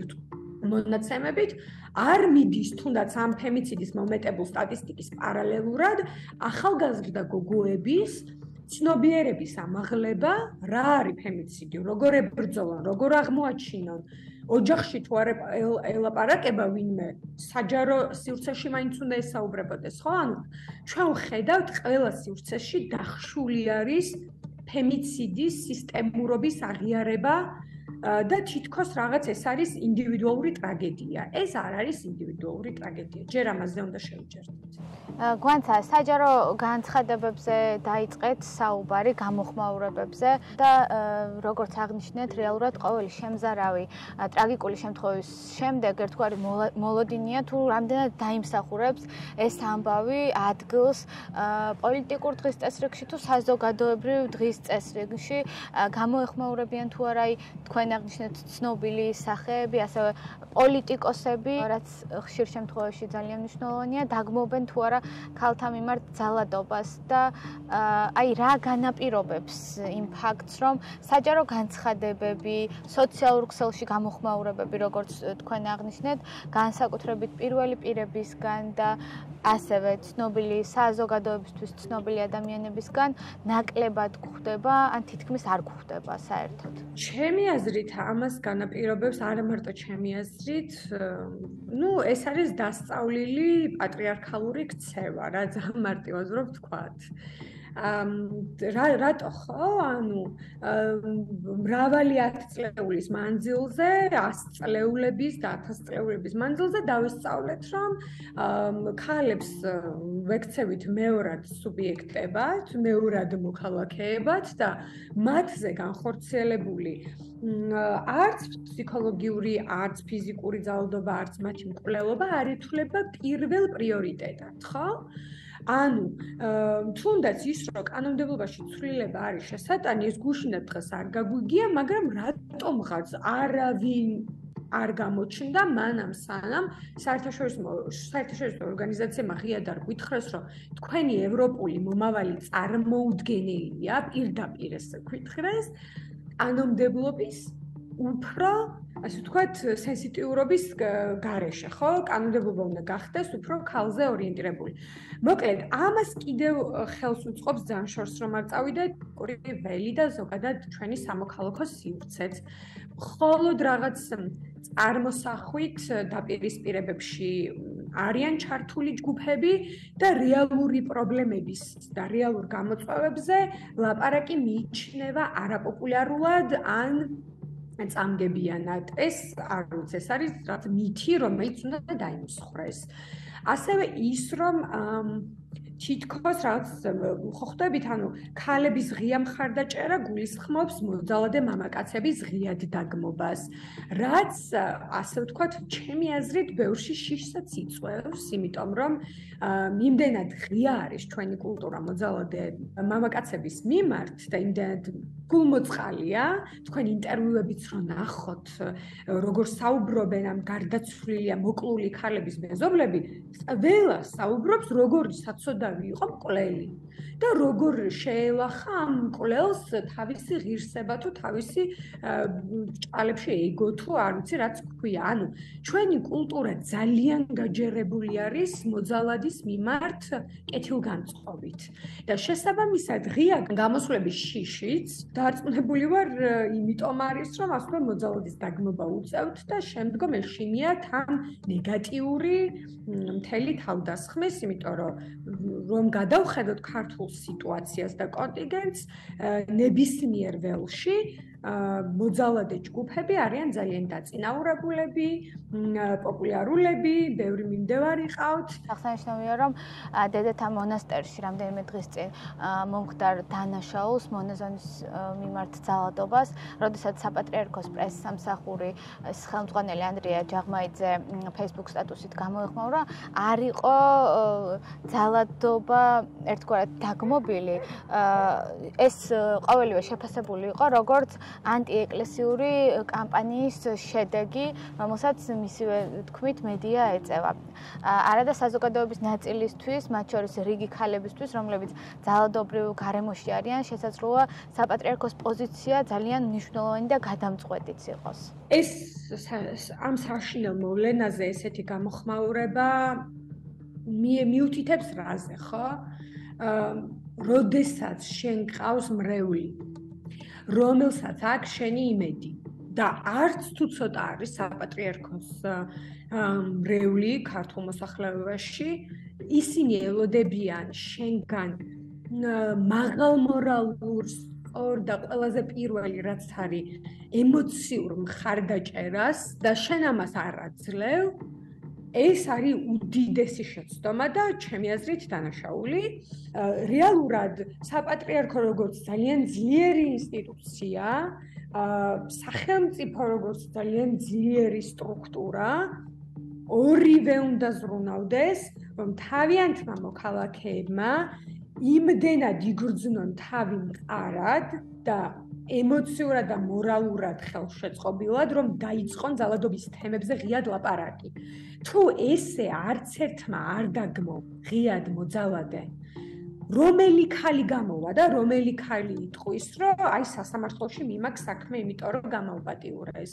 Speaker 6: მონაცემებით არ მიდის თუნდაც ამ ფემიციდის მომეტებულ სტატისტიკის პარალელურად ახალგაზრდა გოგოების ცნობიერების ამაღლება, რა არის ფემიციდი, როგორ ებრძოლონ, როგორ აღმოაჩინონ, ოჯახში თუ არ ელაპარაკება ვინმე, საჯარო სივრცეში მაინც უნდა ესაუბრებოდეს, ხო? ანუ ჩვენ ვხედავთ ყველა სივრცეში დახშული არის ფემიციდის სისტემურობის აღიარება და თითქოს რაღაც ეს არის ინდივიდუალური ტრაგედია. ეს არ არის ინდივიდუალური ტრაგედია. ჯერ ამაზე უნდა შევიჯერდეთ.
Speaker 1: გვანცა საჯარო განცხადებებზე დაიწყეთ საუბარი, გამოხმაურებებზე და როგორც აღნიშნეთ, რეალურად ყოველი შემზარავი ტრაგიკული შემთხვევის შემდეგ ერთგვარი მოლოდინია თუ რამდენად დაიმსახურებს ეს ამბავი ადგილს პოლიტიკურ დღის წესრიგში თუ საზოგადოებრივ დღის წესრიგში, გამოეხმაურებიან თუ არა თქვენ აღნიშნეთ ცნობილი სახეები, ასევე პოლიტიკოსები, რაც ხშირ შემთხვევაში ძალიან მნიშვნელოვანია, დაგმობენ თუ არა ქალთა მიმართ ძალადობას და აი რა განაპირობებს იმ ფაქტს, რომ საჯარო განცხადებები, სოციალურ ქსელში გამოხმაურებები, როგორც თქვენ აღნიშნეთ, განსაკუთრებით პირველი პირებისგან და ასევე ცნობილი საზოგადოებისთვის ცნობილი ადამიანებისგან ნაკლებად გვხვდება, ან თითქმის არ გვხვდება საერთოდ.
Speaker 6: ჩემი აზრით ამას განაპირობებს არა მარტო ჩემი აზრით, ეს არის დასწავლილი პატრიარქალური ქცევა, რა ძალიან მარტივად რო ვთქვათ. რატო ხო? ანუ მრავალი ათწლეულის მანძილზე, 100 წლეულების და 1000 წლეულების მანძილზე დავისწავლეთ, რომ ქალებს ვექცევით მეორად სუბიექტებად, მეორად მოქალაქეებად და მათზე განხორციელებული არც ფსიქოლოგიური, არც ფიზიკური ძალადობა, არც მათი მკვლელობა არ ითვლება პირველ პრიორიტეტად, ხო? ანუ თუნდაც ის რომ კანონმდებლობაში ცვლილება არის შესატანი, ეს გუშინად დღეს არ გაგვიგია, მაგრამ რატომღაც არავინ არ გამოჩნდა მანამ სანამ საერთაშორისო ორგანიზაციებმა ღიად არ გვითხრეს, რომ თქვენი ევროპული მომავალი წარმოუდგენელია, პირდაპირ ესე გვითხრეს, კანონმდებლობის უფრო, ასე ვთქვათ, სენსიტიურობის გარეშე, ხო? კანონმდებლობა უნდა გახდეს უფრო ქალზე ორიენტირებული. მოკლედ, ამას კიდევ ხელს უწყობს ძალიან შორს, რომ არ წავიდეთ ველი და ზოგადად ჩვენი სამოქალაქო სივრცეც. მხოლოდ რაღაც წარმოსახვით დაპირისპირებებში არიან ჩართული ჯგუფები და რეალური პრობლემების და რეალურ გამოწვევებზე ლაპარაკი მიიჩნევა არაპოპულარულად ან წამგებიანად. ეს არ ვიცი, ეს არის რაღაც მითი, რომელიც უნდა დაიმსხვრეს. ასევე ის, რომ თითქოს რაც ხო ხვდებით, ანუ ქალების ღია მხარდაჭერა გულისხმობს მოძალადე მამაკაცების ღიად დაგმობას, რაც ასე ვთქვათ, ჩემი აზრით, ბევრში შიშსაც იწვევს, იმიტომ რომ იმდენად ღია არის ჩვენი კულტურა მოძალადე მამაკაცების მიმართ და იმდენად გულმოწყალია, თქვენ ინტერვიუებიც რო ნახოთ, როგორ საუბრობენ ამ გარდაცვლილი, მოკლული ქალების მეზობლები, ყველა საუბრობს, როგორი საცოდავი იყო მკვლელი და როგორ შეელახა ამ მკვლელს თავისი ღირსება თუ თავისი ჭალებში ეგო თუ არ ვიცი რაც ქვია. ანუ ჩვენი კულტურა ძალიან გაჯერებული არის მოძალადის მიმართ კეთილგანწყობით და შესაბამისად ღია გამოსვლების შიშიც დარწმუნებული ვარ იმიტომ არის რომ ასე მოძალადის დაგმობა უწევთ და შემდგომ ეშინიათ ამ ნეგატიური მთელი თავდასხმის, იმიტომ რომ გადავხედოთ ქართულ სიტუაციას და კონტინგენტს, ნებისმიერ ველში მოძალადე ჯგუფები არიან ძალიან დაწინაურებულები, პოპულარულები, ბევრი მიმდევარი ყავთ.
Speaker 1: აღსანიშნავია, რომ დედათა მონასტერში რამდენიმე დღის წინ მომხდარ დანაშაულს მონაზონის მიმართ ძალადობას, როდესაც საპატრიარქოს პრესსამსახური ხელმძღვანელი ანდრია ჯაღმაიძე Facebook სტატუსით გამოეხმაურა, არ იყო ძალადობა ერთგვარად დაგმობილი, ეს ყოველივე შეფასებული იყო როგორც ანტიეკლესიური კამპანიის შედეგი, რომელსაც მისივე თქმით მედია ეწევა. არადა საზოგადოების ნაწილისთვის, მათ შორის რიგი ქალებისთვის, რომლებიც ძალადობრივ გარემოში არიან, შესაძლოა საპატრიარქოს პოზიცია ძალიან მნიშვნელოვანი და გადამწყვეტიც იყოს.
Speaker 6: ეს ამ საშინელ მოვლენაზე ესეთი გამოხმაურება მიუთითებს რაზე, ხო? როდესაც შენ გყავს მრევლი, რომელსაც აქვს შენი იმედი და არც თუ ცოტა არის საპატრიარქოს მრევლი ქართულ მოსახლეობაში, ისინი ელოდებიან შენგან მაღალ მორალურ და ყველაზე პირველი რაც არის ემოციურ მხარდაჭერას და შენ ამას არ აძლევ, ეს არის უდიდესი შეცდომა და ჩემი აზრით დანაშაული. რეალურად საპატრიარქო როგორც ძალიან ძლიერი ინსტიტუცია, სახელმწიფო როგორც ძალიან ძლიერი სტრუქტურა, ორივე უნდა ზრუნავდეს, რომ თავიანთმა მოქალაქეებმა იმდენად იგრძნონ თავი მყარად და ემოციურად და მორალურად ხელშეწყობილად, რომ დაიწყონ ძალადობის თემებზე ღიად ლაპარაკი. თუ ესე არც ერთმა არ დაგმო ღიად მოძალადე, რომელი ქალი გამოვა და რომელი ქალი იტყვის, რომ აი სასამართლოში მიმაქვს საქმე, იმიტომ რომ გამავპატიურეს.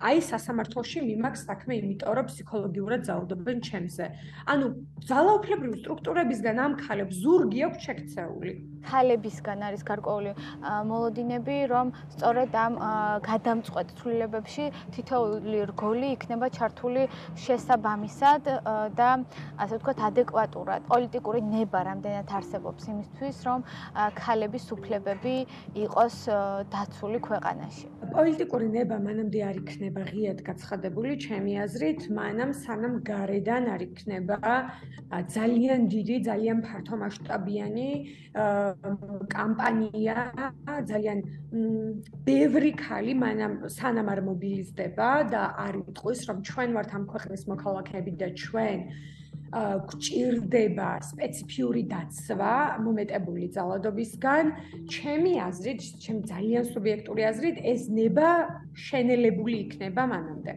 Speaker 6: აი სასამართლოში მიმაქვს საქმე, იმიტომ რომ ფსიქოლოგიურად ძალადობენ ჩემზე. ანუ ძალაუფლებრივი სტრუქტურებისგან ამ ქალებს ზურგი აქვს შექცეული.
Speaker 1: ქალებისგან არის გარკვეული მოლოდინები, რომ სწორედ ამ გადამწყვეტ ცვლილებებში თითოეული რგოლი იქნება ჩართული შესაბამისად და ასე ვთქვათ ადეკვატურად. პოლიტიკური ნება რამდენად არსებობს იმისთვის, რომ ქალების უფლებები იყოს დაცული ქვეყანაში.
Speaker 6: პოლიტიკური ნება მანამდე არ იქნება ღიად გაცხადებული, ჩემი აზრით, მანამ სანამ გარედან არ იქნება ძალიან დიდი, ძალიან ფართომასშტაბიანი კამპანია, ძალიან ბევრი ქალი სანამ არ მობილიზდება და არ იტყვის, რომ ჩვენ ვართ ამ ქვეყნის მოქალაქეები და ჩვენ გვჭირდება სპეციფიური დაცვა მომეტებული ძალადობისგან, ჩემი აზრით, ჩემი ძალიან სუბიექტური აზრით, ეს ნება შენელებული იქნება მანამდე.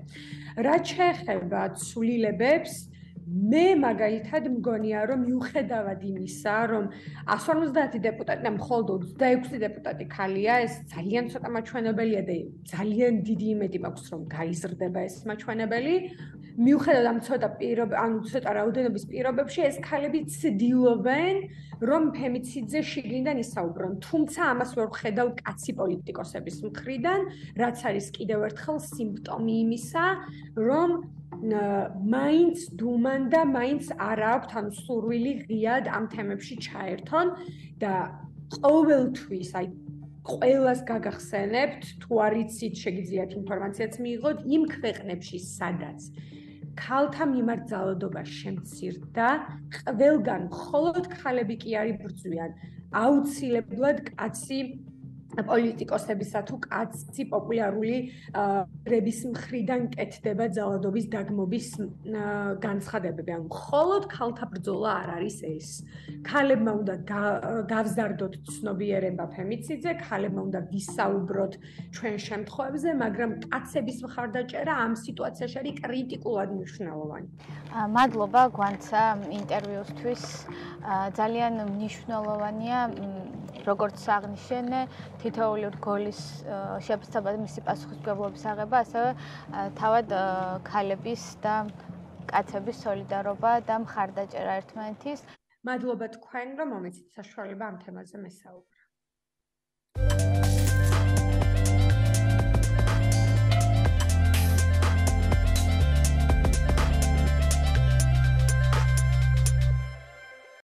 Speaker 6: რაც შეეხება ცვლილებებს, მე მაგალითად მგონია, რომ მიუხედავად იმისა, რომ 150 დეპუტატი და მხოლოდ 26 დეპუტატი ქალია, ეს ძალიან ცოტა მაჩვენებელია და ძალიან დიდი იმედი მაქვს, რომ გაიზრდება ეს მაჩვენებელი. მიუხედავად ამ ცოტა რაოდენობის პირობებში, ეს ქალები ცდილობენ, რომ ფემიციძე შიგნიდან ისაუბრონ, თუმცა ამას ვერ ვხედავ კაცი პოლიტიკოსების მხრიდან, რაც არის კიდევ ერთხელ სიმპტომი იმისა, რომ მაინც დუმან და მაინც არ აქვთ ან სურვილი ღიად ამ თემებში ჩაერთონ და ყოველთვის აი ყველას გაგახსენებთ, თუ არ იცით, შეგიძლიათ ინფორმაციაც მიიღოთ იმ ქვეყნებში, სადაც ქალთა მიმართ ძალადობა შემცირდა, ყველგან მხოლოდ ქალები კი არ იბრძვიან. აუცილებლად კაცი პოლიტიკოსებისა თუ კაცი პოპულარული რების მხრიდან კეთდება ძალადობის დაგმობის განცხადებები. ან მხოლოდ ქალთა ბრძოლა არ არის ეს. ქალებმა უნდა გავზარდოთ ცნობიერება ფემიციძე, ქალებმა უნდა ვისაუბროთ ჩვენ შემთხვევებზე, მაგრამ კაცების მხარდაჭერა ამ სიტუაციაში არის კრიტიკულად მნიშვნელოვანი.
Speaker 1: მადლობა გვანცა ინტერვიუსთვის. ძალიან მნიშვნელოვანია როგორც აღნიშნე თითოეული რგოლის შეფასება მისი პასუხისმგებლობის აღება, ასევე თავად ქალების და კაცების სოლიდარობა და მხარდაჭერა ერთმანეთის.
Speaker 6: მადლობა თქვენ, რომ მომეცით საშუალება ამ თემაზე მესაუბროთ.